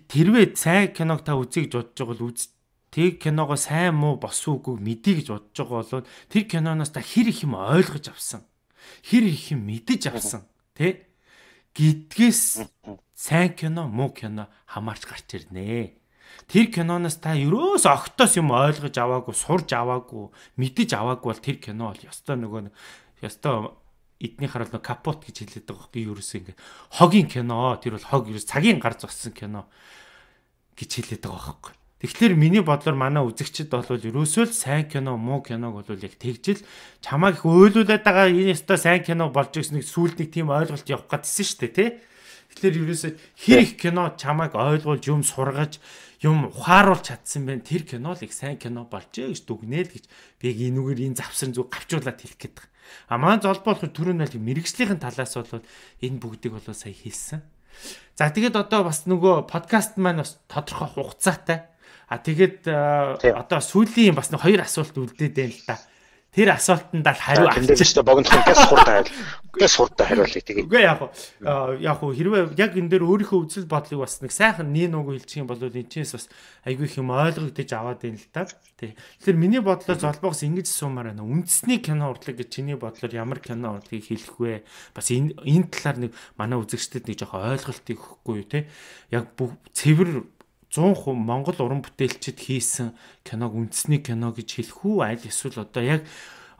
тэрвээ сайн киног та үзье гэж бодож байгаа бол тэг киногоо сайн муу босуу үгүй мэдээ гэж бодож байгаа бол тэр киноноос та хэр их юм ойлгож авсан. Хэр их юм мэдэж авсан. Тэ? Гэдгээс сайн кино муу кино хамаарч гарч ирнэ. Тэр киноноос та ерөөс огтоос юм ойлгож аваагүй, сурж аваагүй, мэдэж аваагүй бол тэр кино бол ёстой ёстой эдний хараад капот гэж хэлээд байгаа байхгүй ерөөсөө ингээ хогийн кино тэр бол хог ерөөс цагийн гар зогссон кино гэж хэлээд байгаа байхгүй. Тэгэхээр миний бодлоор манай үзэгчид бол ерөөсөө л сайн кино, муу киног бол яг тэгжил чамайг их өөлүүлээд байгаа энэ өстой сайн кино болж ирсэн нэг сүүлд нэг тийм ойлголт явах гэдсэн шүү дээ, тий? Тэгэхээр ерөөсөө хэр их кино чамайг ойлгуулж юм сургаж юм ухааруулж чадсан байх тэр кино л их сайн кино болжээ гэж дүгнээл гэж би энүүгээр энэ завсар зүг гавчуулаад хэлэх гээд байгаа. А маань золбоо болохоор түрүүн бол мэрэгжлийн талаас бол энэ бүгдийг бол сая хэлсэн. За тэгээд одоо бас нөгөө подкаст маань бас тодорхой хугацаатай. А тэгээд одоо сүүлийн бас нэг хоёр асуулт үлдээд байна л да. Тэр асуултанд л хариу авчихсан. Богинохон газ хурдан хариулъя тэгээд. Үгүй яг хэрвээ яг энэ дээр өөрийнхөө үзэл бодлыг бас нэг сайхан нин уг хэлчих юм бол энэчээс бас айгүй их юм ойлгогдож аваад байна л да. Тий. Тэгэхээр миний бодлоор золбоогоос ингэж суумаар байна. Үндэсний кино урлаг гэж чиний бодлоор ямар кино урлагийг хэлэх вэ? Бас энэ талаар нэг манай үзэгчдэд нэг жоохон ойлголтыг өгөхгүй юу те. Яг бүх цэвэр 100% Монгол уран бүтээлчид хийсэн киног үндэсний кино гэж хэлэх үү? Аль эсвэл одоо яг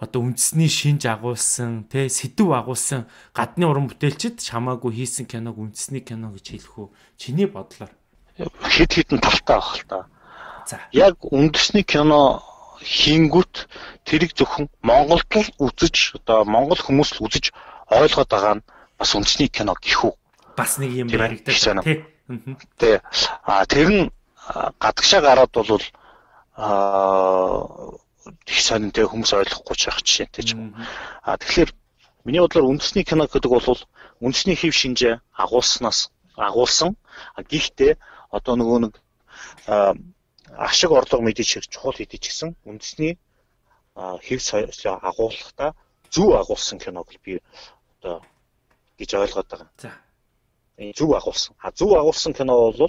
үндэсний шинж агуулсан, тэ сэдв агуулсан гадны уран бүтээлчид хамаагүй хийсэн киног үндэсний кино гэж хэлэх үү? Чиний бодлоор хэд хэдэн талтай байх л та. За. Яг үндэсний кино хийнгүүт тэрийг зөвхөн Монголд л үзэж, одоо Монгол хүмүүс л үзэж ойлгоод байгаа нь бас үндэсний кино гэх үү? Бас нэг юм яригдаж тий. Тэ. Тэр нь гадагшаа гараад бол их сонинтэй хүмүүс ойлгохгүй ч байх жишээтэй ч юм. Тэгэхээр миний бодлоор үндэсний кино гэдэг бол үндэсний хэв шинжээ агуулсан. Гэхдээ одоо нөгөө нэг ашиг орлого мэдээж хэрэг чухал хэдий ч гэсэн үндэсний хэв соёлоо агуулгахдаа зөв агуулсан киног би одоо гэж ойлгоод байгаа. За. Зөв агуулсан. Зөв агуулсан кино бол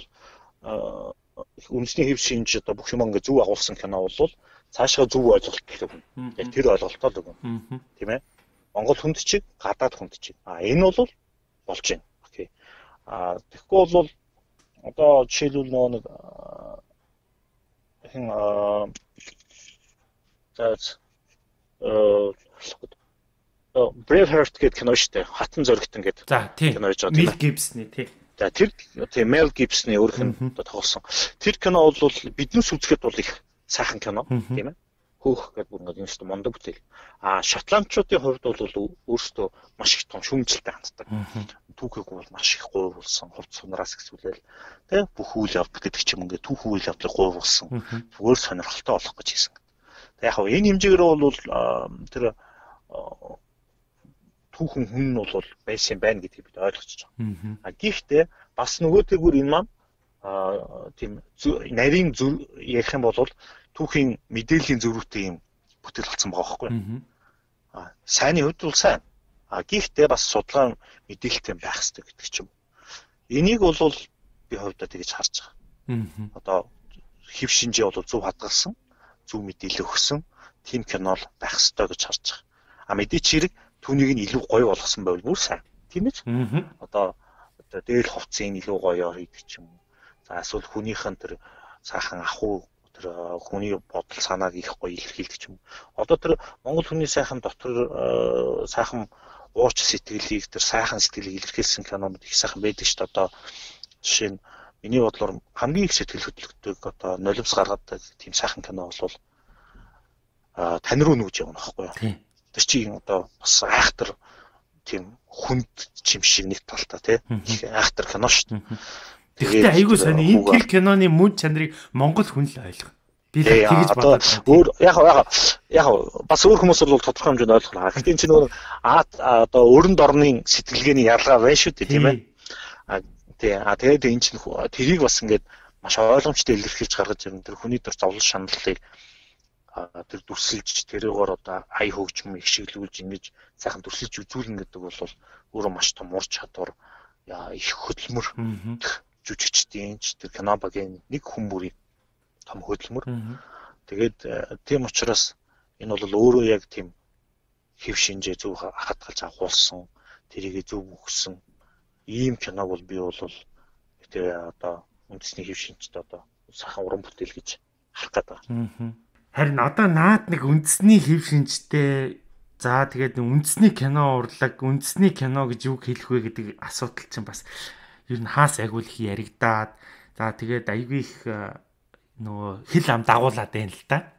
үндэсний хэв шинж одоо бүх юм ингээ зөв агуулсан кино бол цаашаа зөв ойлголт өгнө. Яг тэр ойлголтоо л өгнө. Тийм ээ. Монгол хүнд чиг, гадаад хүнд чиг. Энэ бол болж байна. Окей. Тэгэхгүй бол одоо жишээлбэл нэг Braveheart гэдэг кино шүү дээ. Хатан зөрөгтөн гэдэг кино гэж байна. Mel Gibson тий. За тэр тийм Mel Gibson-ы өөрх нь тоглосон. Тэр кино бол биднээс үзэхэд бол их сайхан кино тийм ээ. Хөөх гэдэг бүр ингээд мундаг бүтээл. Шотландчуудын хувьд бол өөрсдөө маш их том шүүмжлэлтэй ханддаг. Түүхийг бол маш их гуйвуулсан, хувц сунараас ихсүүлээл тийм бүх үйл явдал гэдэг ч юм ингээд түүх үйл явдлыг гуйвуулсан. Зүгээр сонирхолтой болох гэж хийсэн. Тэг яг энэ хэмжээгээр бол тэр түүхэн хүн нь бол байсан байна гэдгийг бид ойлгож байгаа. Гэхдээ бас нөгөөтэйгүр энэ маань тийм нарийн ярих юм бол түүхийн мэдээллийн зөрүүтэй юм бүтээл болсон байгаа байхгүй. Сайнны хувьд бол сайн. Гэхдээ бас судалгаа мэдээлэлтэй байх хэрэгтэй гэдэг ч юм. Энийг бол би хувьдаа тэгэж харж байгаа. Одоо хэв шинжээ бол зөв хадгалсан, зөв мэдээлэл өгсөн тийм кино л байх хэрэгтэй гэж харж байгаа. Мэдээч хэрэг түүнийг нь илүү гоё болгосон байвал бүр сайн. Тийм ээ ч. Одоо дээл хувцсыг илүү гоёор хийдэг ч юм. За эсвэл хүнийх нь тэр сайхан ахуй тэр хүний бодол санааг их гоё илэрхийлдэг ч юм. Одоо тэр монгол хүний сайхан дотор сайхан ууч сэтгэлийг тэр сайхан сэтгэлийг илэрхийлсэн кинонууд их сайхан байдаг шүү дээ. Одоо жишээ нь миний бодлоор хамгийн их сэтгэл хөдлөлтөг одоо нулимс гаргадаг тийм сайхан кино бол тань руу нүүж явна байхгүй юу? Тэр чинь одоо бас айхтар тийм хүнд чим шиг нэг талтай тий айхтар кино шүү дээ. Тэгэхдээ айгүй сони энэ тэр киноны мөн чанарыг монгол хүн л ойлгох. Би л тэгж бодоод яг бас өөр хүмүүс бол тодорхой хэмжээнд ойлгох. Гэхдээ энэ чинь нөгөө одоо өрөнд орны сэтгэлгээний ялгаа байна шүү дээ тийм ээ. Тий. Тэгээд энэ чинь тэрийг бас ингээд маш ойлгомжтой илэрхийлж гаргаж ирэн тэр хүний төр зовлон шаналлыг тэр дүрсэлж тэрээр одоо ая хөгжим их шиглүүлж ингэж сайхан дүрсэлж үзүүлнэ гэдэг бол өөрөө маш том ур чадвар их хөдөлмөр жүжигчдийн тэр кино багийн нэг хүн бүрийн том хөдөлмөр. Тэгээд тийм учраас энэ бол өөрөө яг тийм хэв шинжээ зөв хадгалж агуулсан, тэрийг зөв өгсөн ийм киног бол би бол тэр одоо үндэсний хэв шинжтэй одоо сайхан уран бүтээл гэж харах гэдэг. Харин одоо наад нэг үндэсний хэв шинжтэй за тэгээд үндэсний кино урлаг, үндэсний кино гэж юу хэлэх вэ гэдэг асуудал чинь бас ер нь хаас агуул их яригадаад за тэгээд айгүй их нөгөө хил ам дагуулад байна л да.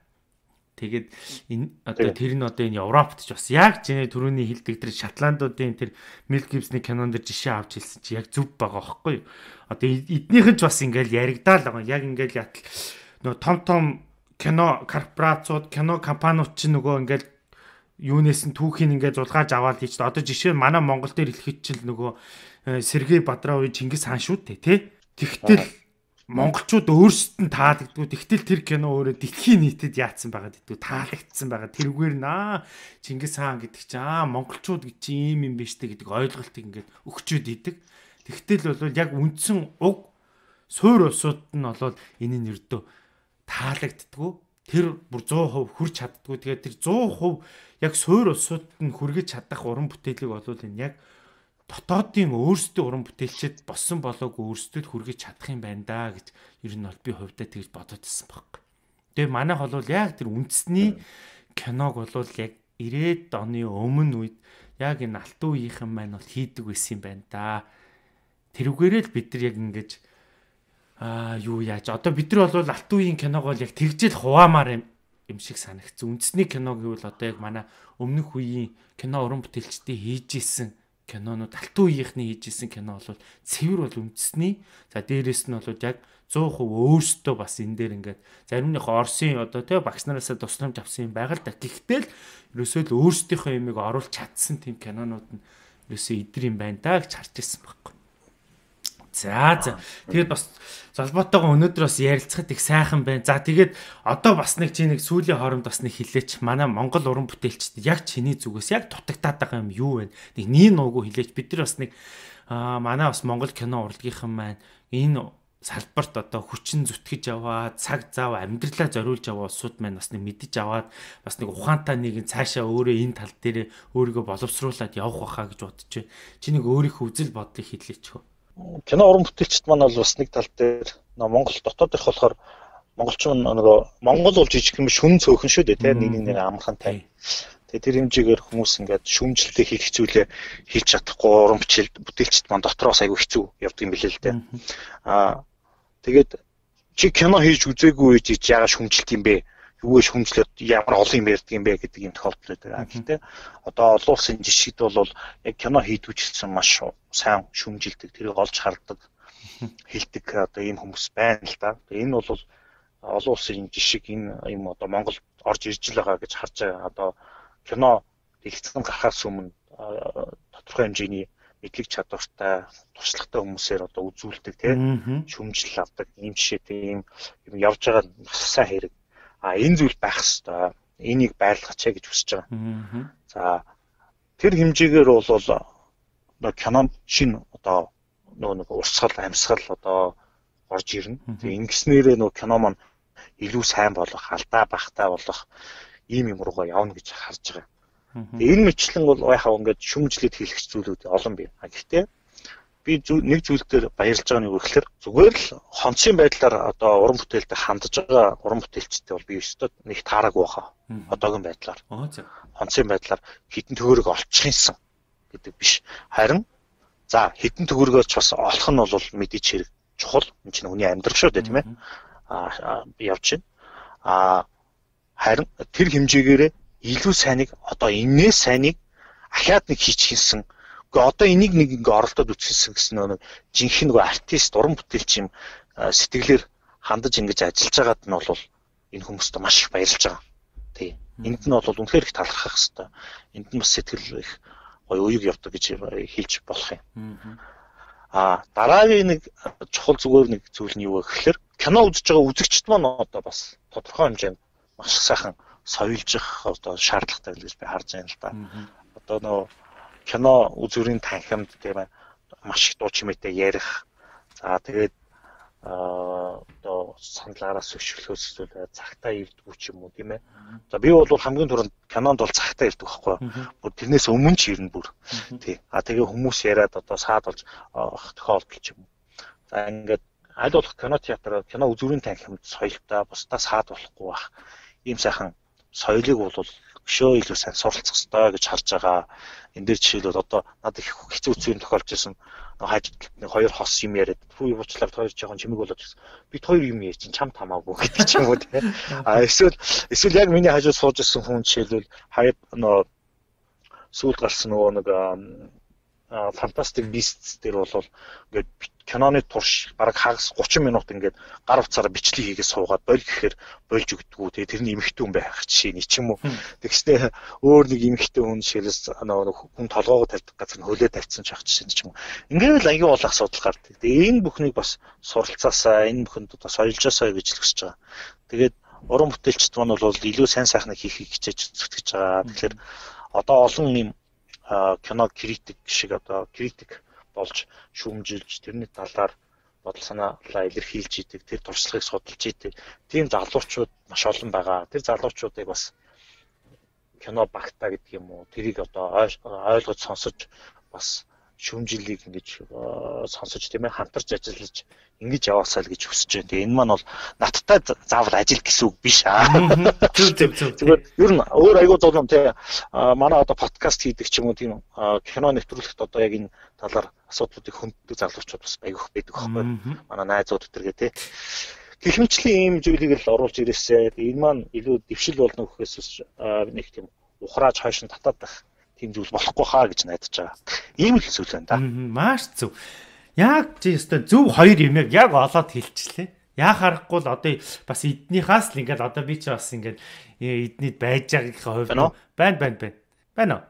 Тэгээд энэ одоо тэр нь одоо энэ Европт ч бас яг чиний түрүүний хэлдэг тэр Шотландуудын тэр Мел Гибсний кинонд жишээ авч хэлсэн чи яг зөв байгаа байхгүй юу? Одоо эднийхэн ч бас ингээл яригдаал байгаа. Яг ингээл ятал нөгөө том кино корпорацууд, кино компаниуд ч нөгөө ингээл юунээс нь түүхийг ингээд зулгааж аваад хийж та одоо жишээ нь манай Монгол дээр хэлэхэд чинь нөгөө Сергей Бодроовын Чингис хаан шүү дээ тий. Тэгтэл монголчууд өөрсдөд нь таалагддгүй. Тэгтэл тэр кино өөрөө дэлхийн нийтэд яатсан байгаа гэдэг таалагдсан байгаа. Тэрүүгээр Чингис хаан гэдэг чинь монголчууд гэж ийм юм биш үү гэдэг ойлголтыг ингээд өгчөөд идэг. Тэгтэл бол яг үндсэн уг суур улсууд нь бол энэ нь өрдөө таалагддгүй. Тэр бүр 100% хүрч чаддгүй. Тэгээд тэр 100% яг суур улсууд нь хүргэж чадах уран бүтээлийг бол энэ яг дотоодын өөрсдөө уран бүтээлчд болсон болоогүй өөрсдөд хүргэж чадах юм байна да гэж ер нь бол би хувьдаа тэгж бодоод байсан байхгүй. Тэгээ манайх бол яг тэр үндэсний киног бол яг 90-ад оны өмнө үед яг энэ алтан үеийнхэн маань бол хийдэг байсан юм байна да. Тэрүүгээрээ л бид нар яг ингэж юу яаж одоо бид нар бол алтан үеийн киног бол яг тэгжэл хуваамаар юм шиг санагдсан. Үндэсний кино гэвэл одоо яг манай өмнөх үеийн кино уран бүтээлчдийн хийж исэн кинонууд алтан үеийнхний хийж исэн кино бол цэвэр бол үндэсний. За дээрэс нь бол яг 100% өөрсдөө бас энэ дээр ингээд зарим нэг Оросын одоо тий багш нараасаа тусламж авсан юм байгаа л да. Гэхдээ л ерөөсөө л өөрсдийнхөө юмыг оруулж чадсан тийм кинонууд нь ерөөсөө идэр юм байна да гэж харж ирсэн байхгүй. За тэгээд бас залбоотойгоо өнөөдөр бас ярилцахад их сайхан байна. За тэгээд одоо бас нэг чи нэг сүүлийн хооронд бас нэг хэлээч. Манай Монгол уран бүтээлчд яг чиний зүгээс яг дутагтаад байгаа юм юу вэ? Нэг нийн нуугүй хэлээч. Бид нар бас нэг манай бас Монгол кино урлагийнхан маань энэ салбарт одоо хүчин зүтгэж аваад цаг зав амьдралаа зориулж аваа улсууд маань бас нэг мэдэж аваад бас нэг ухаантай нэгэн цаашаа өөрөө энэ тал дээр өөрийгөө боловсруулад явах байхаа гэж бодож байна. Чи нэг өөрийнхөө үзэл бодлыг хэлээч хөө. Кино уран бүтээлчд маань бол бас нэг тал дээр Монгол дотоод ирэх болохоор монголчин нөгөө Монгол бол жижиг юм шүн цөөхөн шүү дээ тийм нэг амархантай. Тэгээ тэр хэмжээгээр хүмүүс ингээд шүмжлэлтэй хийх зүйлээ хийж чадахгүй уран бүтээлчд маань дотроос айгүй хэцүү явдаг юм билээ л дээ. Тэгээд чи кино хийж үзээгүй чи яагаад шүмжилт юм бэ? Юугээ шүмжлээд ямар олон юм ярьдаг юм бэ гэдэг юм тохиолдол байдаг. Гэхдээ одоо олон улсын жишгд бол яг кино хийдгүүчсэн маш сайн шүмжилдэг, тэрийг олж хардаг, хэлдэг одоо ийм хүмүүс байна л да. Энэ бол олон улсын жишг энэ юм одоо Монголд орж ирж л байгаа гэж харж байгаа. Одоо кино дэлгэцэн гарахаас өмнө тодорхой хэмжээний мэдлэг чадвартай, туршлагатай хүмүүсээр одоо үзүүлдэг тийм шүмжил авдаг ийм жишээтэй ийм явж байгаа сайн хэрэг. Энэ зүйл байх хэвээр. Энийг байрлахачаа гэж хүсэж байгаа. За тэр хэмжээгээр бол кино шин одоо нэг урсгал, амьсгал одоо орж ирнэ. Тэгээ ингэснээрээ кино маань илүү сайн болох, алдаа багтаа болох ийм юм руугаа явна гэж харж байгаа. Тэгээ энэ мэтлэн бол яхаа ингээд шүмжлээд хийх зүйлүүд олон бий. Гэхдээ би нэг зүйл дээр баярлж байгаа нь юу гэхээр зүгээр л хонцын байдлаар одоо уран бүтээлтэй хандж байгаа уран бүтээлчтэй бол би өстөд нэг таараагүй хаа. Одоогийн байдлаар. Хонцын байдлаар хитэн төгөөрөг олчихсан гэдэг биш. Харин за хитэн төгөөргөөч бас олох нь бол мэдээж хэрэг чухал. Энэ чинь хүний амьдрал шүү дээ тийм ээ. Явж байна. Харин тэр хэмжээгээрээ илүү сайныг одоо энэс сайныг ахаад нэг хийчихсэн. Одоо энийг нэг ингээ оролдоод үтсгэсэн гэсэн нэг жинхэнэ нэг артист уран бүтээлч юм сэтгэлээр хандаж ингэж ажиллаж байгаад нь бол энэ хүмүүст маш их баярлж байгаа. Тий. Энд нь бол үнэхээр их талархах хэрэгтэй. Энд нь бас сэтгэл их гоё уяг явдаг гэж хэлж болох юм. Дараагийн нэг чухал зүгээр нэг зүйл нь юу вэ гэхээр кино үзэж байгаа үзэгчд маань одоо бас тодорхой хэмжээнд маш сайхан соёлжих одоо шаардлагатай гэж би харж байна л да. Одоо нөө кино үзүүрийн танхимд тийм ээ маш их дуу чимээтэй ярих. За тэгээд одоо саналаараас өшөглөхөөс эсвэл цагтаа ирдгүү ч юм уу тийм ээ. За би бол хамгийн түрүүнд кинонд бол цагтаа ирдэг байхгүй. Бүр тэрнээс өмнө ч ирнэ бүр. Тий. Тэгээ хүмүүс яриад одоо саад болж тохиолдол ч юм уу. За ингээд аль болох кино театр, кино үзүүрийн танхимд соёлтой бусдаа саад болохгүй бах. Ийм сайхан соёлыг бол өшөө илүү сайн суралцах хэрэгтэй гэж харж байгаа. Энд дээр жишээлбэл одоо надад их хэцүү зүйл тохиолж ирсэн. Хажид нэг хоёр хос юм яриад хүү уучлаар хоёр жоохон чимэг болоод ирсэн. Бид хоёр юм яа чинь чамд хамаагүй гэдэг ч юм уу тийм. Эсвэл яг миний хажууд сууж ирсэн хүн жишээлбэл хаяа нөө сүүлд гарсан нөгөө нэг Fantastic Beasts дээр бол ингээд киноны турш бараг хагас 30 минут ингээд гар утсаараа бичлэг хийгээд суугаад боль гэхээр болж өгдөггүй. Тэгээ тэрний эмэгтэй хүн байх жишээ нь ч юм уу. Тэгснэ өөр нэг эмэгтэй хүн жишээлс хүн толгоогоо тавьдаг газар нь хөлөө тавьсан ч ах жишээ нь ч юм уу. Ингээд л аягүй бол асуудал гардаг. Тэгээ энэ бүхнийг бас суралцаасаа энэ бүхэнд одоо соёлжоосаа гэж хэлж байгаа. Тэгээд уран бүтээлчд маань бол илүү сайн сайхныг хийхийг хичээж зүтгэж байгаа. Тэгэхээр одоо олон юм кино критик шиг одоо критик болж шүүмжилж тэрний талаар бодол санаалаа илэрхийлж идэг тэр туршлагыг судалж идэг тийм залуучууд маш олон байгаа. Тэр залуучуудыг бас кино багтаа гэдэг юм уу тэрийг одоо ойлгож сонсож бас шүүмжлэлийг ингэж сонсож тийм ээ хамтарч ажиллаж ингэж яваасаа л гэж хүсэж байна. Тэгээ энэ маань бол надтай заавал ажил гэсэн үг биш аа. Зүгээр ер нь өөр аягүй зовлон тий манай одоо подкаст хийдэг ч юм уу тийм кино нэвтрүүлэхт одоо яг энэ талаар асуудлуудыг хөндөг залуучууд бас аягүйх байдаг байхгүй. Манай найзууд өтергээ тий. Гэх мэтлийн ийм зүйлийг л оруулж ирээсэй. Энэ маань илүү дэвшил болно гэхээс нэг тийм ухрааж хойш нь татаад байх тийм зүйл болохгүй хаа гэж найдаж байгаа. Ийм л зүйл байна да. Маш зөв. Яг чи өстой зөв хоёр юм яг олоод хэлчихлээ. Яа харахгүй л одоо бас эднийхээс л ингээд одоо би чи бас ингээд эднийд байж байгаагийн хувьд байна.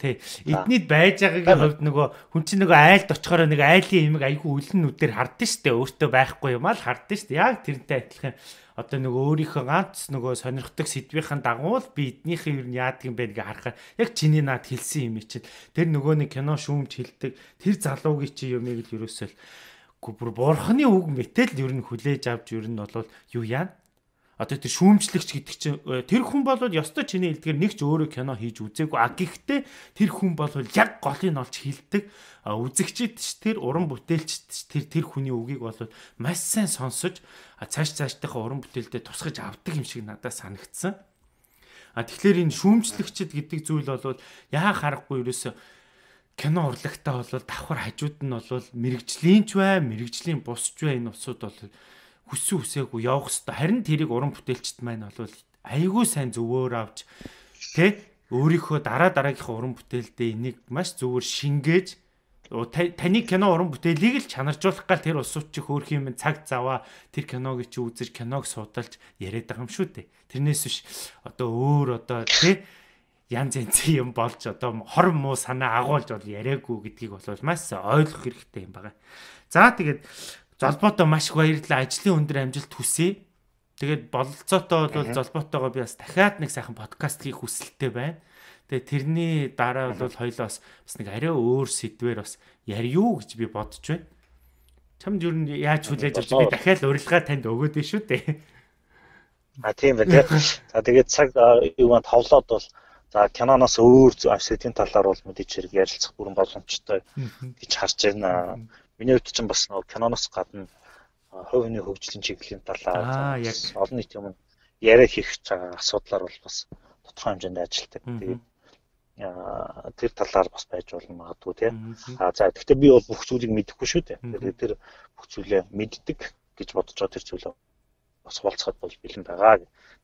Тий. Эднийд байж байгаагийн хувьд нөгөө хүн чинь нөгөө айлд очихоор нэг айлын имийг айгүй үлэн нүдээр хардсан штэ. Өөртөө байхгүй юм аа л хардсан штэ. Яг тэрнтэй адилхан одоо нөгөө өөрийнхөө ганц нөгөө сонирхдаг сэдвийн дагуу л би эднийхээ юу яадаг юм бэ гэж харахаар яг чиний наад хэлсэн юм чинь тэр нөгөө нэг кино шүүмж хэлдэг тэр залуугийн чи юмыг л ерөөсөө бүр бурхны үг мэтэл ер нь хүлээж авч ер нь бол юу яа одоо тэр шүүмжлэгч гэдэг чинь тэр хүн бол ёстой чиний хэлдгээр нэг ч өөрөө кино хийж үзээгүй гэхдээ тэр хүн бол яг голыг олж хэлдэг үзэгчид тэр уран бүтээлчд тэр хүний үгийг бол маш сайн сонсож цаашдынхаа уран бүтээлдээ тусгаж авдаг юм шиг надад санагдсан. Тэгэхээр энэ шүүмжлэгчд гэдэг зүйл бол яа харахгүй ерөөсө кино урлагтаа бол давхар хажууд нь бол мэрэгжлийн ч бай, мэрэгжлийн бусч бай энэ усуд бол хүссэн үсээгүй явах хэвээр. Харин тэрийг уран бүтээлчд маань бол айгүй сайн зөвөөр авч тэ өөрийнхөө дараагийнхаа уран бүтээлдээ энийг маш зөвөр шингээж таны кино уран бүтээлийг л чанаржуулах гал тэр усууч хөөх юм цаг заваа тэр киног чи үзэж киног судалж яриад байгаа юм шүү дээ. Тэрнээс биш одоо өөр одоо тэ янз янзын юм болж одоо хор муу санаа агуулж бол яриаггүй гэдгийг бол маш ойлгох хэрэгтэй юм байна. За тэгээд золбоотоо маш их баярлалаа. Ажлын өндөр амжилт хүсье. Тэгээд бололцоотоо бол золбоотойгоо би бас дахиад нэг сайхан подкаст хийх хүсэлтэй байна. Тэгээд тэрний дараа бол хоёлоос бас нэг арай өөр сэдвээр бас ярьё гэж би бодож байна. Чамд юу нь яаж хүлээж авч би дахиад урилга танд өгөөд шүү дээ. Тийм байна. За тэгээд цаг юу маань товлоод бол за киноноос өөр сэдвийн талаар бол мэдээж хэрэг ярилцах бүрэн боломжтой гэж харж байна. Миний хувьд ч бас киноноос гадна хувийн хөгжлийн чиглэлийн талаар олон нийт юм яриа хийх асуудлаар бол бас тодорхой хэмжээнд ажилладаг. Тэгээд тэр талаар бас байж болно магадгүй тийм. За гэхдээ би бол бүх зүйлийг мэдэхгүй шүү дээ. Тэгээд тэр бүх зүйлээ мэддэг гэж бодож байгаа тэр зүйлээ бас хуваалцахад бол бэлэн байгаа.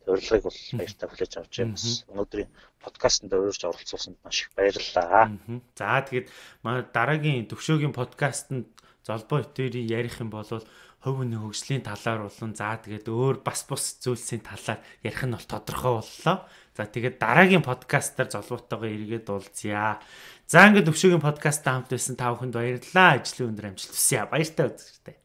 Урилгыг бол баяртай хүлээж авч байна. Өнөөдрийн подкастт урьж оролцуулсанд маш их баярлалаа. За тэгээд дараагийн төвшөөгийн подкастт золбоо өтөрийн ярих юм бол хувь хүний хөгжлийн талаар болон за тэгээд өөр бас бус зүйлсийн талаар ярих нь бол тодорхой боллоо. За тэгээд дараагийн подкастаар золбоотойгоо эргээд уулзъя. За ингээд өвшөөгийн подкасттай хамт байсан та бүхэнд баярлалаа. Ажлын өндөр амжилт хүсье. Баяртай үзэгчтэй.